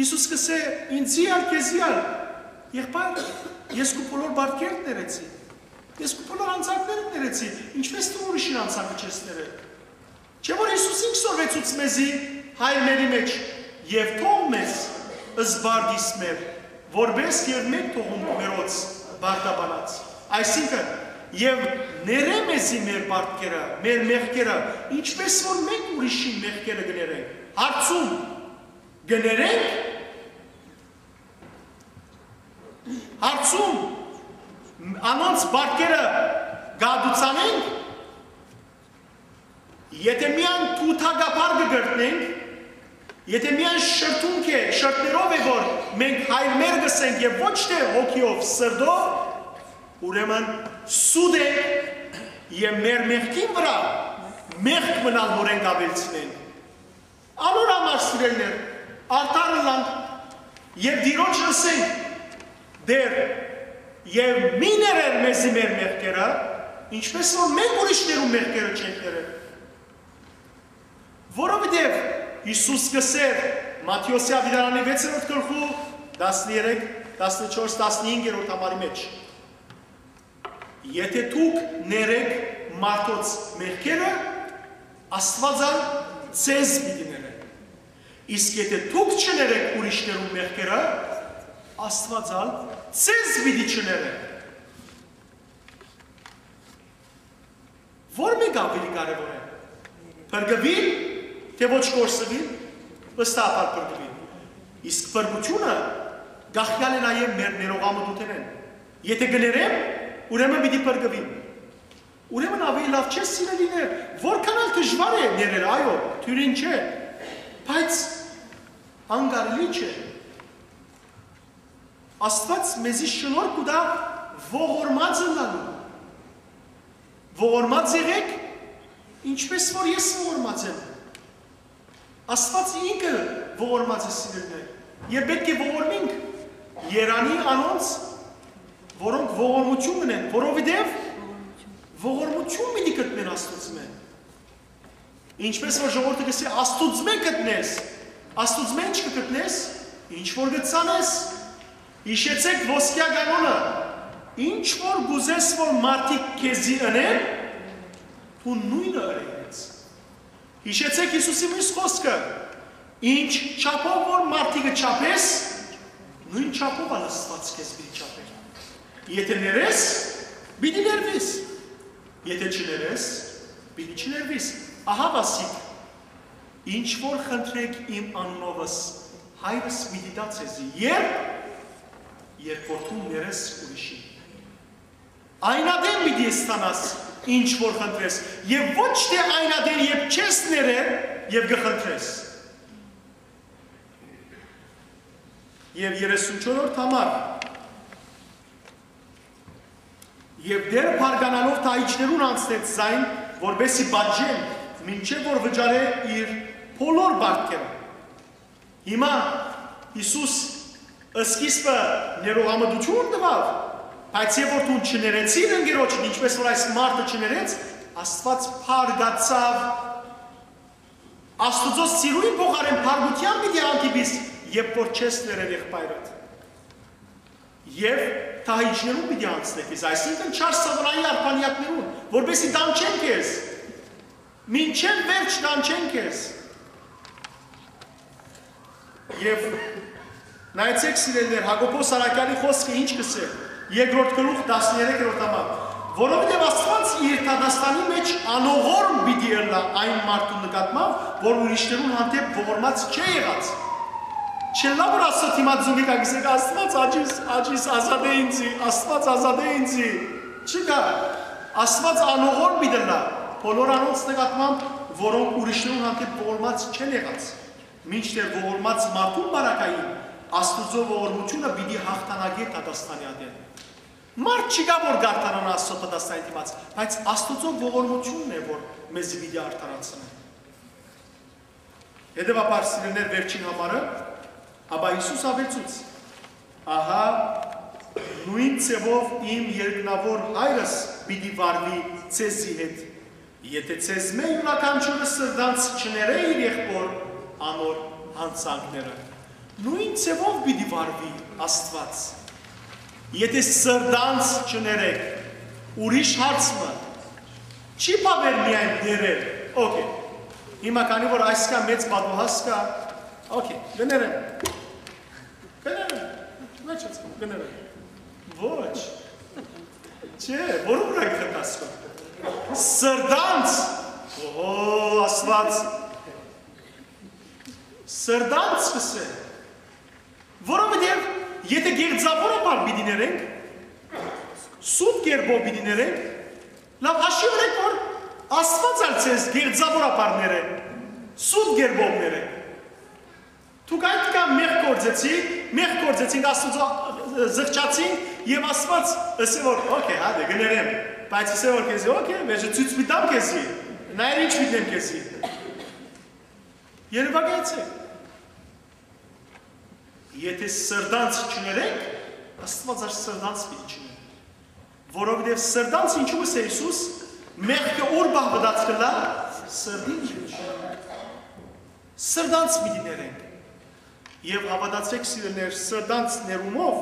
Յիսուս կ'ըսէ. «Ինձի ալ, քեզի ալ, եղբայր, ես քու բոլոր բարքերդ ներեցի, ես քու բոլոր անցակներդ ներեցի, ինչպես դու ուրիշին անցակը չես ներել»։ Չէ՞ որ Յիսուս ինք սորվեցուց մեզի հայրմերի մէջ. «Եւ թող մեզ զբարդիս մեր, որպես եւ մենք թողում մերոց բարդաբանած»։ Այսինքն, «Եւ ներէ մեզի մեր բարդքերը, մեր մեղքերը, ինչպես որ մենք ուրիշին մեղքերը կներենք»։ Հարցում. կներենք, պարտքերը կ'ատուցանենք, եթէ միայն թութակաբար կը կրտնենք, եթէ միայն շրթունք է, շրթներով է, որ մենք հայր մեր կ'ըսենք եւ ոչ թէ հոգիով, սրտով, ուրեմն սուտ ենք եւ մեր մեղքին վրայ մեղք մնալնորեն կ'աւելցնենք։ Անոր համար, սիրելիներ, արդար ըլլանք եւ Տիրոջը ըսենք. «Տէր, եւ մի ներեր մեզի մեր մեղքերը, ինչպէս որ մենք ուրիշներուն մեղքերը չենք ներեր»։ Որովհետեւ Յիսուս կ'ըսէր Մատթէոսի աւետարանի վեցերորդ գլխու տասներեք, տասնչորս, տասնհինգերորդ համարի մէջ. «Եթէ դուք ներէք մարդոց մեղքերը, Աստուած ալ ձեզ պիտի ներէ։ Իսկ եթէ դուք չներէք ուրիշներուն մեղքերը, Աստուած ալ ձեզ պիտի չներէ»։ Ո՞ր մէկը աւելի կարեւոր է։ Փրկուիլ, թէ ոչ կորսուիլ, վստահաբար փրկուիլ։ Իսկ փրկութիւնը կախեալ է նաեւ մեր ներողամտութենէն։ Եթէ կը ներեմ, ուրեմն պիտի փրկուիմ։ Ուրեմն աւելի լաւ չէ, սիրելիներ, որքան ալ դժուար է ներել, այո, դիւրին չէ, բայց անկարելի չէ։ Աստուած մեզի շնորհք կու տայ ողորմած ըլլալու։ Ողորմած եղէք, ինչպէս որ ես ողորմած եմ։ Աստուած ինքը ողորմած է, սիրելիներ, եւ պէտք է ողորմինք։ Երանի անոնց, որոնք ողորմութիւն ունեն, որովհետեւ ողորմութիւն պիտի գտնեն Աստուծմէ։ Ինչպէս որ ժողովուրդը կ'ըսէ, Աստուծմէ գտնես, Աստուծմէ ինչ կը գտնես, ինչ որ կ'ծանես։ Յիշեցէք ոսկեայ կանոնը. «Ինչ որ կ'ուզես որ մարդիկ քեզի ընեն, դուն նոյնը ըրե իրենց»։ Յիշեցէք Յիսուսի միւս խօսքը. «Ինչ չափով որ մարդիկը չափես, նոյն չափով ալ Աստուած քեզ պիտի չափէ։ Եթէ ներես, պիտի ներուիս, եթէ չներես, պիտի չներուիս»։ Ահա վասիկ, ինչ որ խնդրէք իմ անունովս, Հայրս պիտի տայ ձեզի, երբ, երբ որ դուն ներես ուրիշին։ Այն ատեն պիտի ստանաս, ինչ որ խնդրես, եւ ոչ թէ այն ատեն, երբ չես ներեր եւ կը խնդրես։ Եւ երեսունչորդ համար. «Եւ Տէրը բարկանալով դահիճներուն անցնեց զայն, որպէս զի պատժեն, մինչեւ որ վճարէ իր բոլոր պարտքերը»։ Հիմա Յիսուս սկիզբը ներողամտութիւն տուաւ, բայց երբ որ դուն չներեցիր ընկերոջդ, ինչպէս որ այս մարդը չներեց, Աստուած փառկացաւ։ Աստուծոյ սիրոյին փոխարէն փառկութեան պիտի հանդիպիս, երբ որ չես ներեր եղբայրդ։ Եւ դահիճներուն պիտի անցնես, այսինքն չար սատանայի արբանյակներուն, որպէս զի տանջեն քեզ, մինչեւ վերջ տանջեն քեզ։ Եւ նայեցէք, սիրելիներ, Յակոբոս առաքեալի խօսքը ինչ կ'ըսէ, երկրորդ գլուխ, տասներեքերորդ համար. «Որովհետեւ Աստուած իր դատաստանի մէջ անողորմ պիտի ըլլայ այն մարդուն նկատմամբ, որ ուրիշներուն հանդէպ ողորմած չէ եղած»։ Չ'ըլլայ որ Աստուծոյ դիմաց զունգի կը գսեք. «Աստուած, աջիս, աջիս, ազատէ ինձի, Աստուած, ազատէ ինձի»։ Չկայ։ Աստուած անողորմ պիտի ըլլայ բոլոր անոնց նկատմամբ, որոնք ուրիշներուն հանդէպ ողորմած չեն եղած։ Մինչդեռ ողորմած մարդուն պարագային Աստուծոյ ողորմութիւնը պիտի յաղթանակէ դատաստանի ատեն։ Մարդ չկայ, որ կ'արդարանայ Աստուծոյ դատաստանի դիմաց, բայց Աստուծոյ ողորմութիւնն է, որ մեզի պիտի արդարացնէ։ Հետեւաբար, սիրելիներ, վերջին համարը, ապա Յիսուս աւելցուց. «Ահա, նոյն ձեւով իմ երկնաւոր Հայրս պիտի վարուի ձեզի հետ, եթէ ձեզմէ իւրաքանչիւրը սրտանց չներէ իր եղբօր անոր յանցանքները»։ Նոյն ձեւով պիտի վարուի Աստուած։ Եթէ սրտանց չներեք, ուրիշ հարց մը, չի բաւեր միայն ներել։ Okay։ Հիմա քանի որ այսքան մեծ պատուհաս կայ, okay, կներեմ։ Կներեմ։ Մէջացան, կներեմ։ Ոչ։ Չէ, որու վրայ կխնդրես քո։ Սրտանց։ Օհո, Աստուած։ Սրտանց կ'ըսէ։ Որովհետեւ եթէ գեղձաւորաբար պիտի ներենք, Սուտ կերպով պիտի ներենք, լաւ հաշիւ ունեք, որ Աստուած ալ ձեզ կեղծաւորաբար ներէ, սուտ կերպով ներէ։ Դուք այդքան մեղք գործեցիք, մեղք գործեցինք, Աստուծոյ զղջացինք, եւ Աստուած ըսէ որ, «Okay, հա, դե, կներեմ, բայց ըսէ որ քեզի, okay, վերջը ցոյց պիտի տամ քեզի, նայր ինչ պիտի տեմ քեզի»։ Երեւակայեցէք։ Եթէ սրտանց չներենք, Աստուած ալ սրտանց պիտի չներենք։ Որովհետեւ սրտանց, ինչու ըսէ Յիսուս, մեղքը ուր պահուած կ'ըլլայ, սրտին մէջ։ Սրտանց պիտի ներենք։ Եւ հաւատացէք, սիրելիներ, սրտանց ներումով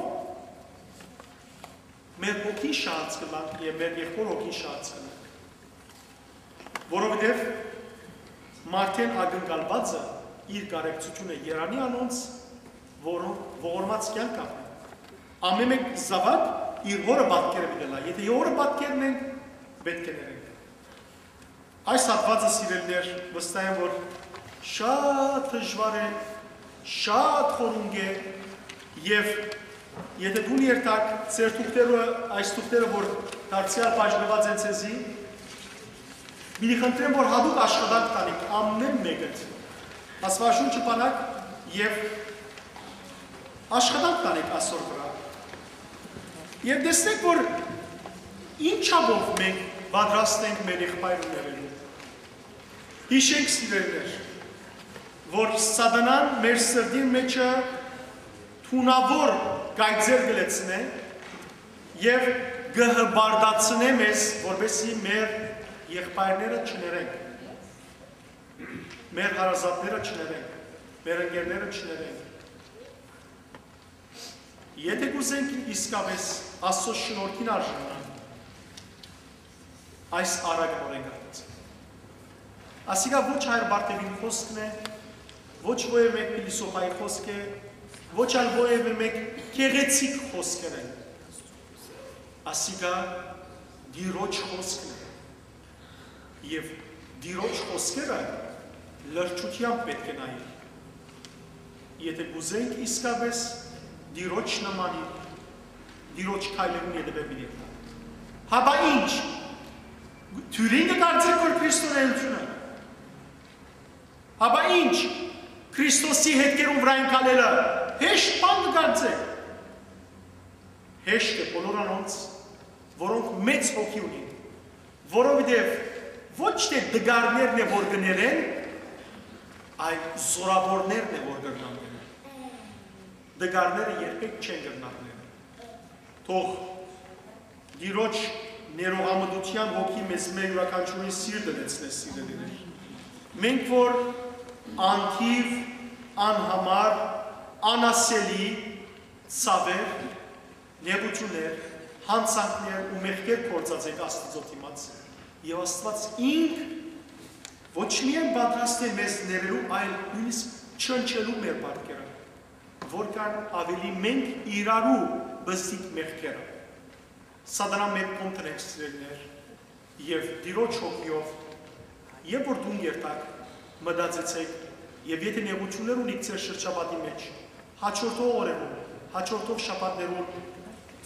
մեր հոգին շահած կ'ըլլանք եւ մեր եղբոր հոգին շահած կ'ըլլանք։ Որովհետեւ մարդէն ակնկալուածը իր կարեկցութիւնը երանի անոնց, որոնք ողորմած կեանք ապրեն։ Ամէն մէկ զաւակ իր հօրը պատկերը պիտի ըլլայ։ Եթէ հօրը պատկերն ենք, պէտք է ներենք։ Այս հատուածը, սիրելիներ, վստահ եմ, որ շատ դժուար է, շատ խորունկ է, եւ եթէ դուն երթաք, ձեր թուղթերը, այս թուղթերը, որ դարձեալ բաժնուած են ձեզի, պիտի խնդրեմ, որ յատուկ աշխատանք տանիք, ամէն մէկդ, Աստուածաշունչը բանաք եւ աշխատանք տանիք ասոր վրայ։ Եւ տեսնենք, որ ինչապով մենք պատրաստ ենք մեր եղբայրը ներելու։ Յիշենք, սիրելիներ, որ Սատանան մեր սրտին մէջը թունաւոր կայծեր կը լեցնէ եւ կը հպարտացնէ մեզ, որպեսզի մեր եղբայրները չներենք, մեր հարազատները չներենք, մեր ընկերները չներենք։ Եթէ կ'ուզենք իսկապէս Աստուծոյ շնորհքին արժանանանք, այս առակը նորեն կ'արդացնենք։ Ասիկա ոչ Հայր Բարթեւին խօսքն է, ոչ որեւէ մէկ փիլիսոփայի խօսք է, ոչ ալ որեւէ մէկ գեղեցիկ խօսքեր են։ Ասիկա Տիրոջ խօսքն է։ Եւ Տիրոջ խօսքերը լրջութեամբ պէտք է նայել։ Եթէ կ'ուզենք իսկապէս Տիրոջ նմանիլ, Տիրոջ քայլերուն ետեւէ պիտի գնանք։ Հապա ի՞նչ, դիւրին կը կարծէք, որ քրիստոնէութիւնը, հապա ի՞նչ, Քրիստոսի հետքերուն վրայ ընկալելը հեշտ բան կը կարծէք։ Հեշտ է բոլոր անոնց, որոնք մեծ հոգի ունին, որովհետեւ ոչ թէ տկարներն է, որ կը ներեն, այլ զօրաւորներն է, որ կրնան ներել։ Տկարները երբեք չեն կրնար ներել։ Թող Տիրոջ ներողամտութեան հոգի մեզմէ յուրաքանչիւրին սիրտը լեցնէ, սիրելիներ։ Մենք որ անթիւ, անհամար, անասելի, ցաւեր, նեղութիւններ, յանցանքներ ու մեղքեր գործած ենք Աստուծոյ դիմաց, եւ Աստուած ինք ոչ միայն պատրաստ է մեզ ներելու, այլ նոյնիսկ չնչելու մեր պարտքերը, որքան աւելի մենք իրարու պզտիկ մեղքերը։ Սատանան մէկ կողմ դնենք, սիրելիներ, եւ Տիրոջ հոգիով, երբ որ դուն երթաք, մտածեցէք, եւ եթէ նեղութիւններ ունիք ձեր շրջապատի մէջ, հաջորդող օրերուն, հաջորդող շաբաթներուն,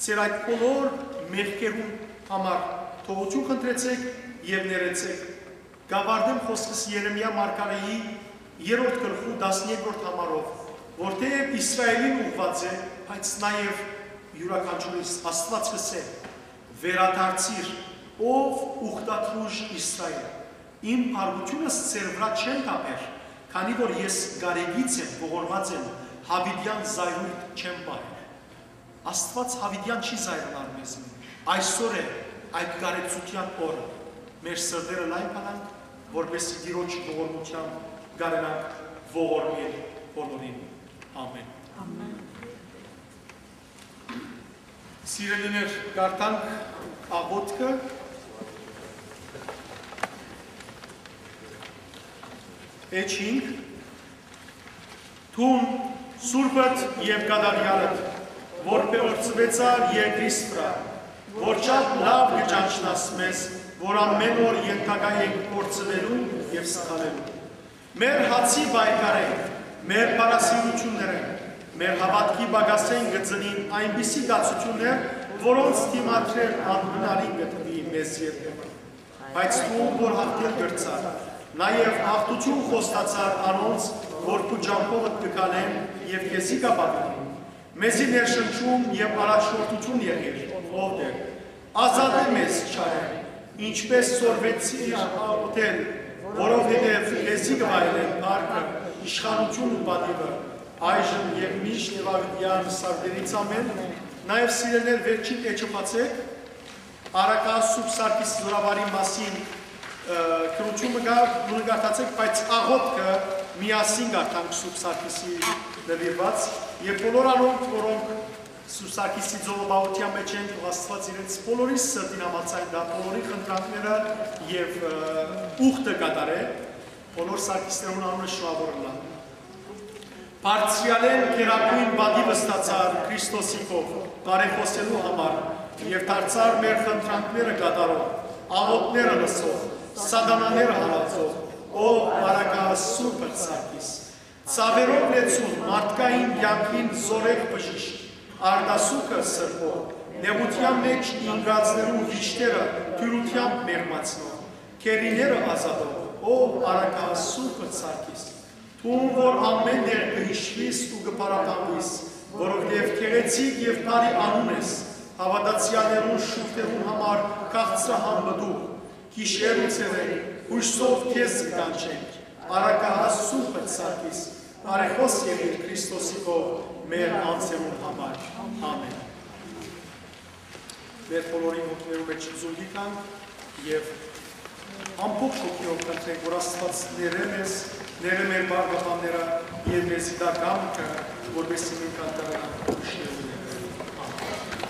ձեր այդ բոլոր մեղքերուն համար թողութիւն խնդրեցէք եւ ներեցէք։ Կ'աւարտեմ խօսքս Երեմիա մարգարէի երրորդ գլխու տասներկրորդ համարով, որ թէեւ Իսրայէլին ուղղուած է, բայց նաեւ յուրաքանչիւր Աստուած կ'ըսէ. «Վերադարձիր, ով ուխտատուժ Իսրայէլ, իմ փառութիւնս ձեր վրայ չեմ թափեր, քանի որ ես կարեկից եմ, ողորմած եմ յաւիտեան զայրույթ չեմ պահեր»։ Աստուած յաւիտեան չի զայրանար մեզմէ։ Այսօր է այդ կարեկցութեան օրը։ Մեր սրտերը լայն բանանք, որպեսզի Տիրոջ ողորմութեան կարենանք ողորմել բոլորին։ Ամէն։ Սիրելիներ, կարդանք աղոթքը։ Էջ հինգ։ Դուն, սուրբդ եւ կատարեալդ, որ փեորցուեցար երկրիս վրայ, որ շատ լաւ կը ճանչնաս մեզ, որ ամէն օր ենթակայ ենք փորձուելու եւ սխալելու։ Մեր հացի պայքարէն, մեր փառասիրութիւններէն, մեր հաւատքի պակասէն կը ծնին այնպիսի կացութիւններ, որոնց դիմադրել անհնարին կը թուի մեզ երբեմն, բայց դուն որ յաղթել կրցար, նաեւ յաղթութիւն խոստացար անոնց, որ քու ճամբովդ կը քալեն եւ քեզի կ'ապավինին։ Մեզի ներշնչում եւ առաջնորդութիւն եղիր, ով Տէր։ Ազատէ մեզ չարէն, ինչպէս սորվեցիր աղօթել, որովհետեւ քեզի կը վայելեն փառքը, իշխանութիւնը ու պատիւը, այժմ եւ միշտ եւ աւետեան սարդերից ամէն։ Նաեւ սիրելիներ, վերջին էջը բացեք, առակայ Սուրբ Սարգիս զօրավարի մասին, ը, գրութիւնը կա, դուն կարդացեք, բայց աղօթքը միասին կարդանք Սուրբ Սարգիսի նուիրուած, եւ բոլոր անոնք, որոնք Սուրբ Սարգիսի ծովապահութեան մէջ են, թող Աստուած իրենց բոլորիս սրտին համաձայն տայ, բոլորի խնդրանքները եւ, ը, ուխտը կատարէ, բոլոր Սարգիսներուն անունը շնորհաւոր ըլլայ։ Բարձրեալէն գերագոյն պատիւ ստացար Քրիստոսի քով բարեխօսելու համար եւ դարձար մեր խնդրանքները կատարող, աղօթքները լսող, սատանաները հալածող, ով առակայ Սուրբը Սարգիս։ Ծաւերով լեցուն մարդկային կեանքին զօրեղ բժիշկ, արտասուքը սրբող, նեղութեան մէջ ինկածներու վիշտերը դիւրութեամբ մեղմացնող, գերիները ազատող, ով առակայ Սուրբը Սարգիս, դուն որ ամէն տեղ կը յիշուիս ու կը փառաբանուիս, որովհետեւ գեղեցիկ եւ բարի անուն ես, հաւատացեալներուն շուրթերուն համար քաղցրահան մտուղ, գիշեր ու ցերեկ, յոյսով քեզ կկանչենք, առակայ Սուրբը Սարգիս, բարեխօս եղիր Քրիստոսի քով մեր անձերուն համար։ Ամէն։ Մեր բոլորին հոգիներու մէջ զունգի տանք եւ ամբողջ հոգիով խնդրենք, որ Աստուած ներէ մեզ, ներէ մեր բարբաբանները եւ մեզի տայ կամքը, որպեսզի մենք անտառ գանք Քրիստոսի ներէ։ Ամէն։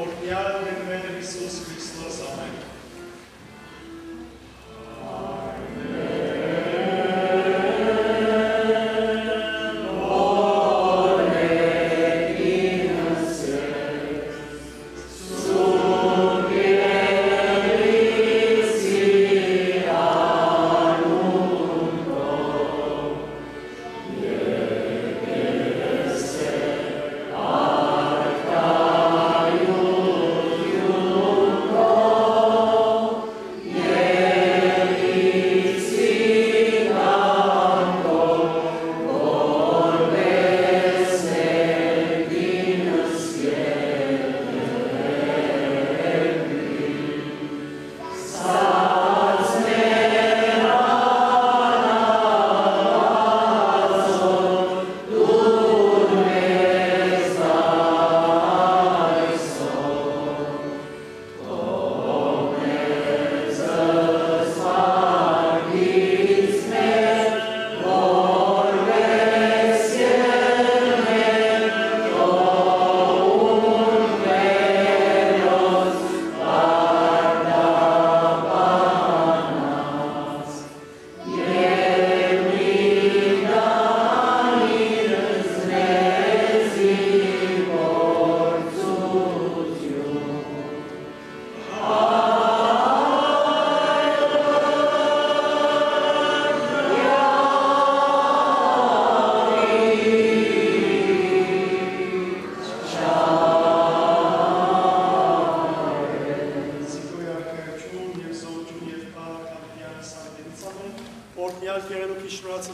Օրհնեալ Տէր մեր Յիսուս Քրիստոս, ամէն։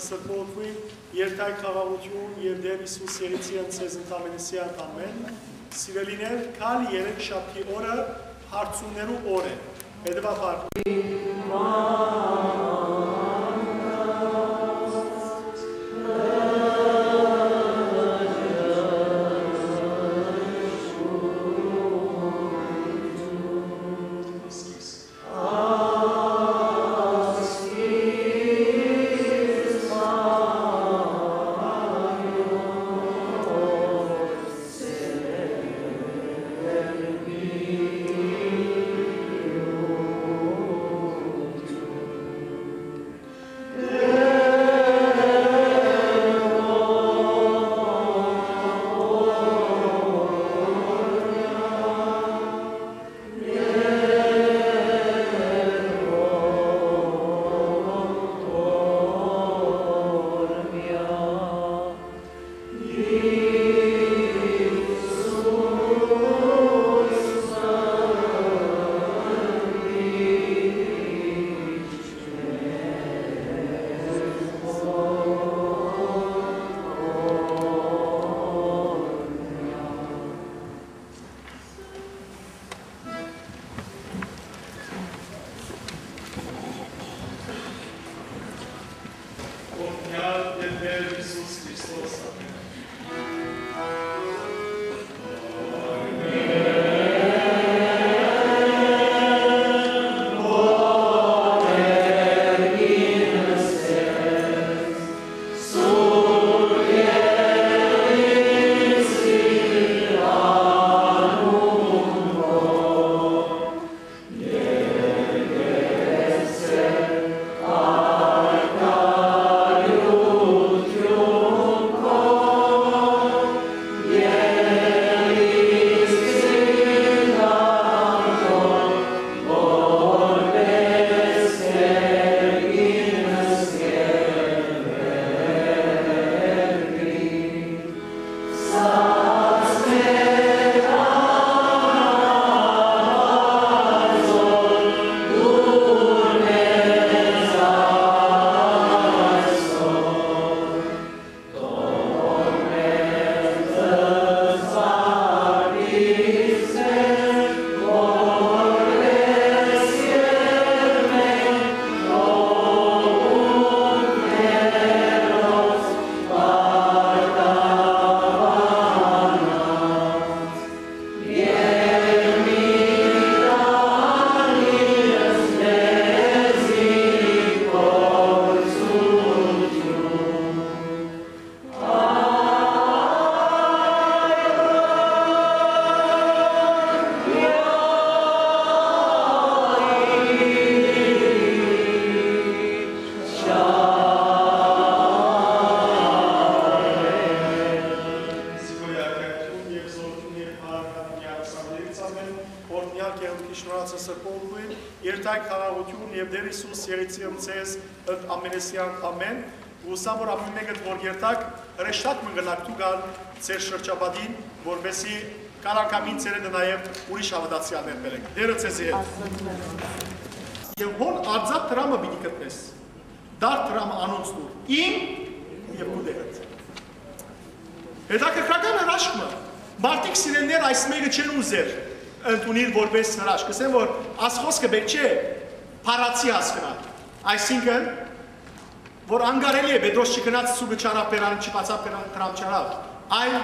Սրբոյն երթայք խաղաղութիւն եւ Տէր Յիսուս եղիցի ընդ ձեզ ընդամենեսեան, ամէն։ Սիրելիներ, գալի երեք շաբթի օրը հարցումներու օր է։ Հետեւաբար, օրհնեալ է Տէր Յիսուս Քրիստոս, ամէն։ Օրհնեալ կեղծիք շնորհացը սրբոյն, երթայք խաղաղութիւն եւ Տէր Յիսուս եղիցի ընդ ձեզ ընդ ամենեսեան, ամէն։ Ու սա որ ամէն մէկդ որ երթաք, հրեշտակ մը կրնաք դուք ալ ձեր շրջապատին, որպեսզի կար անգամ ինձ երեդը նաեւ ուրիշ հաւատացեալներ բերեք։ Տերը ձեզի հետ։ Եւ հոն արձատ դրամը պիտի գտնես, դար դրամը անոնց տուր, իմ եւ քու Տերդ։ Հետաքրքրական հրաշք մը, մարդիկ սիրելիներ այս մեկը չեն ուզեր ընդունիլ որպես հրաշք, կսեն որ աս խոսքը պէտք չէ փառացի հասկնալ, այսինքն որ անկարելի է, Պետրոս չգնաց սուգը չանաւ, բերանը չբացաւ, դրամ չանաւ, այլ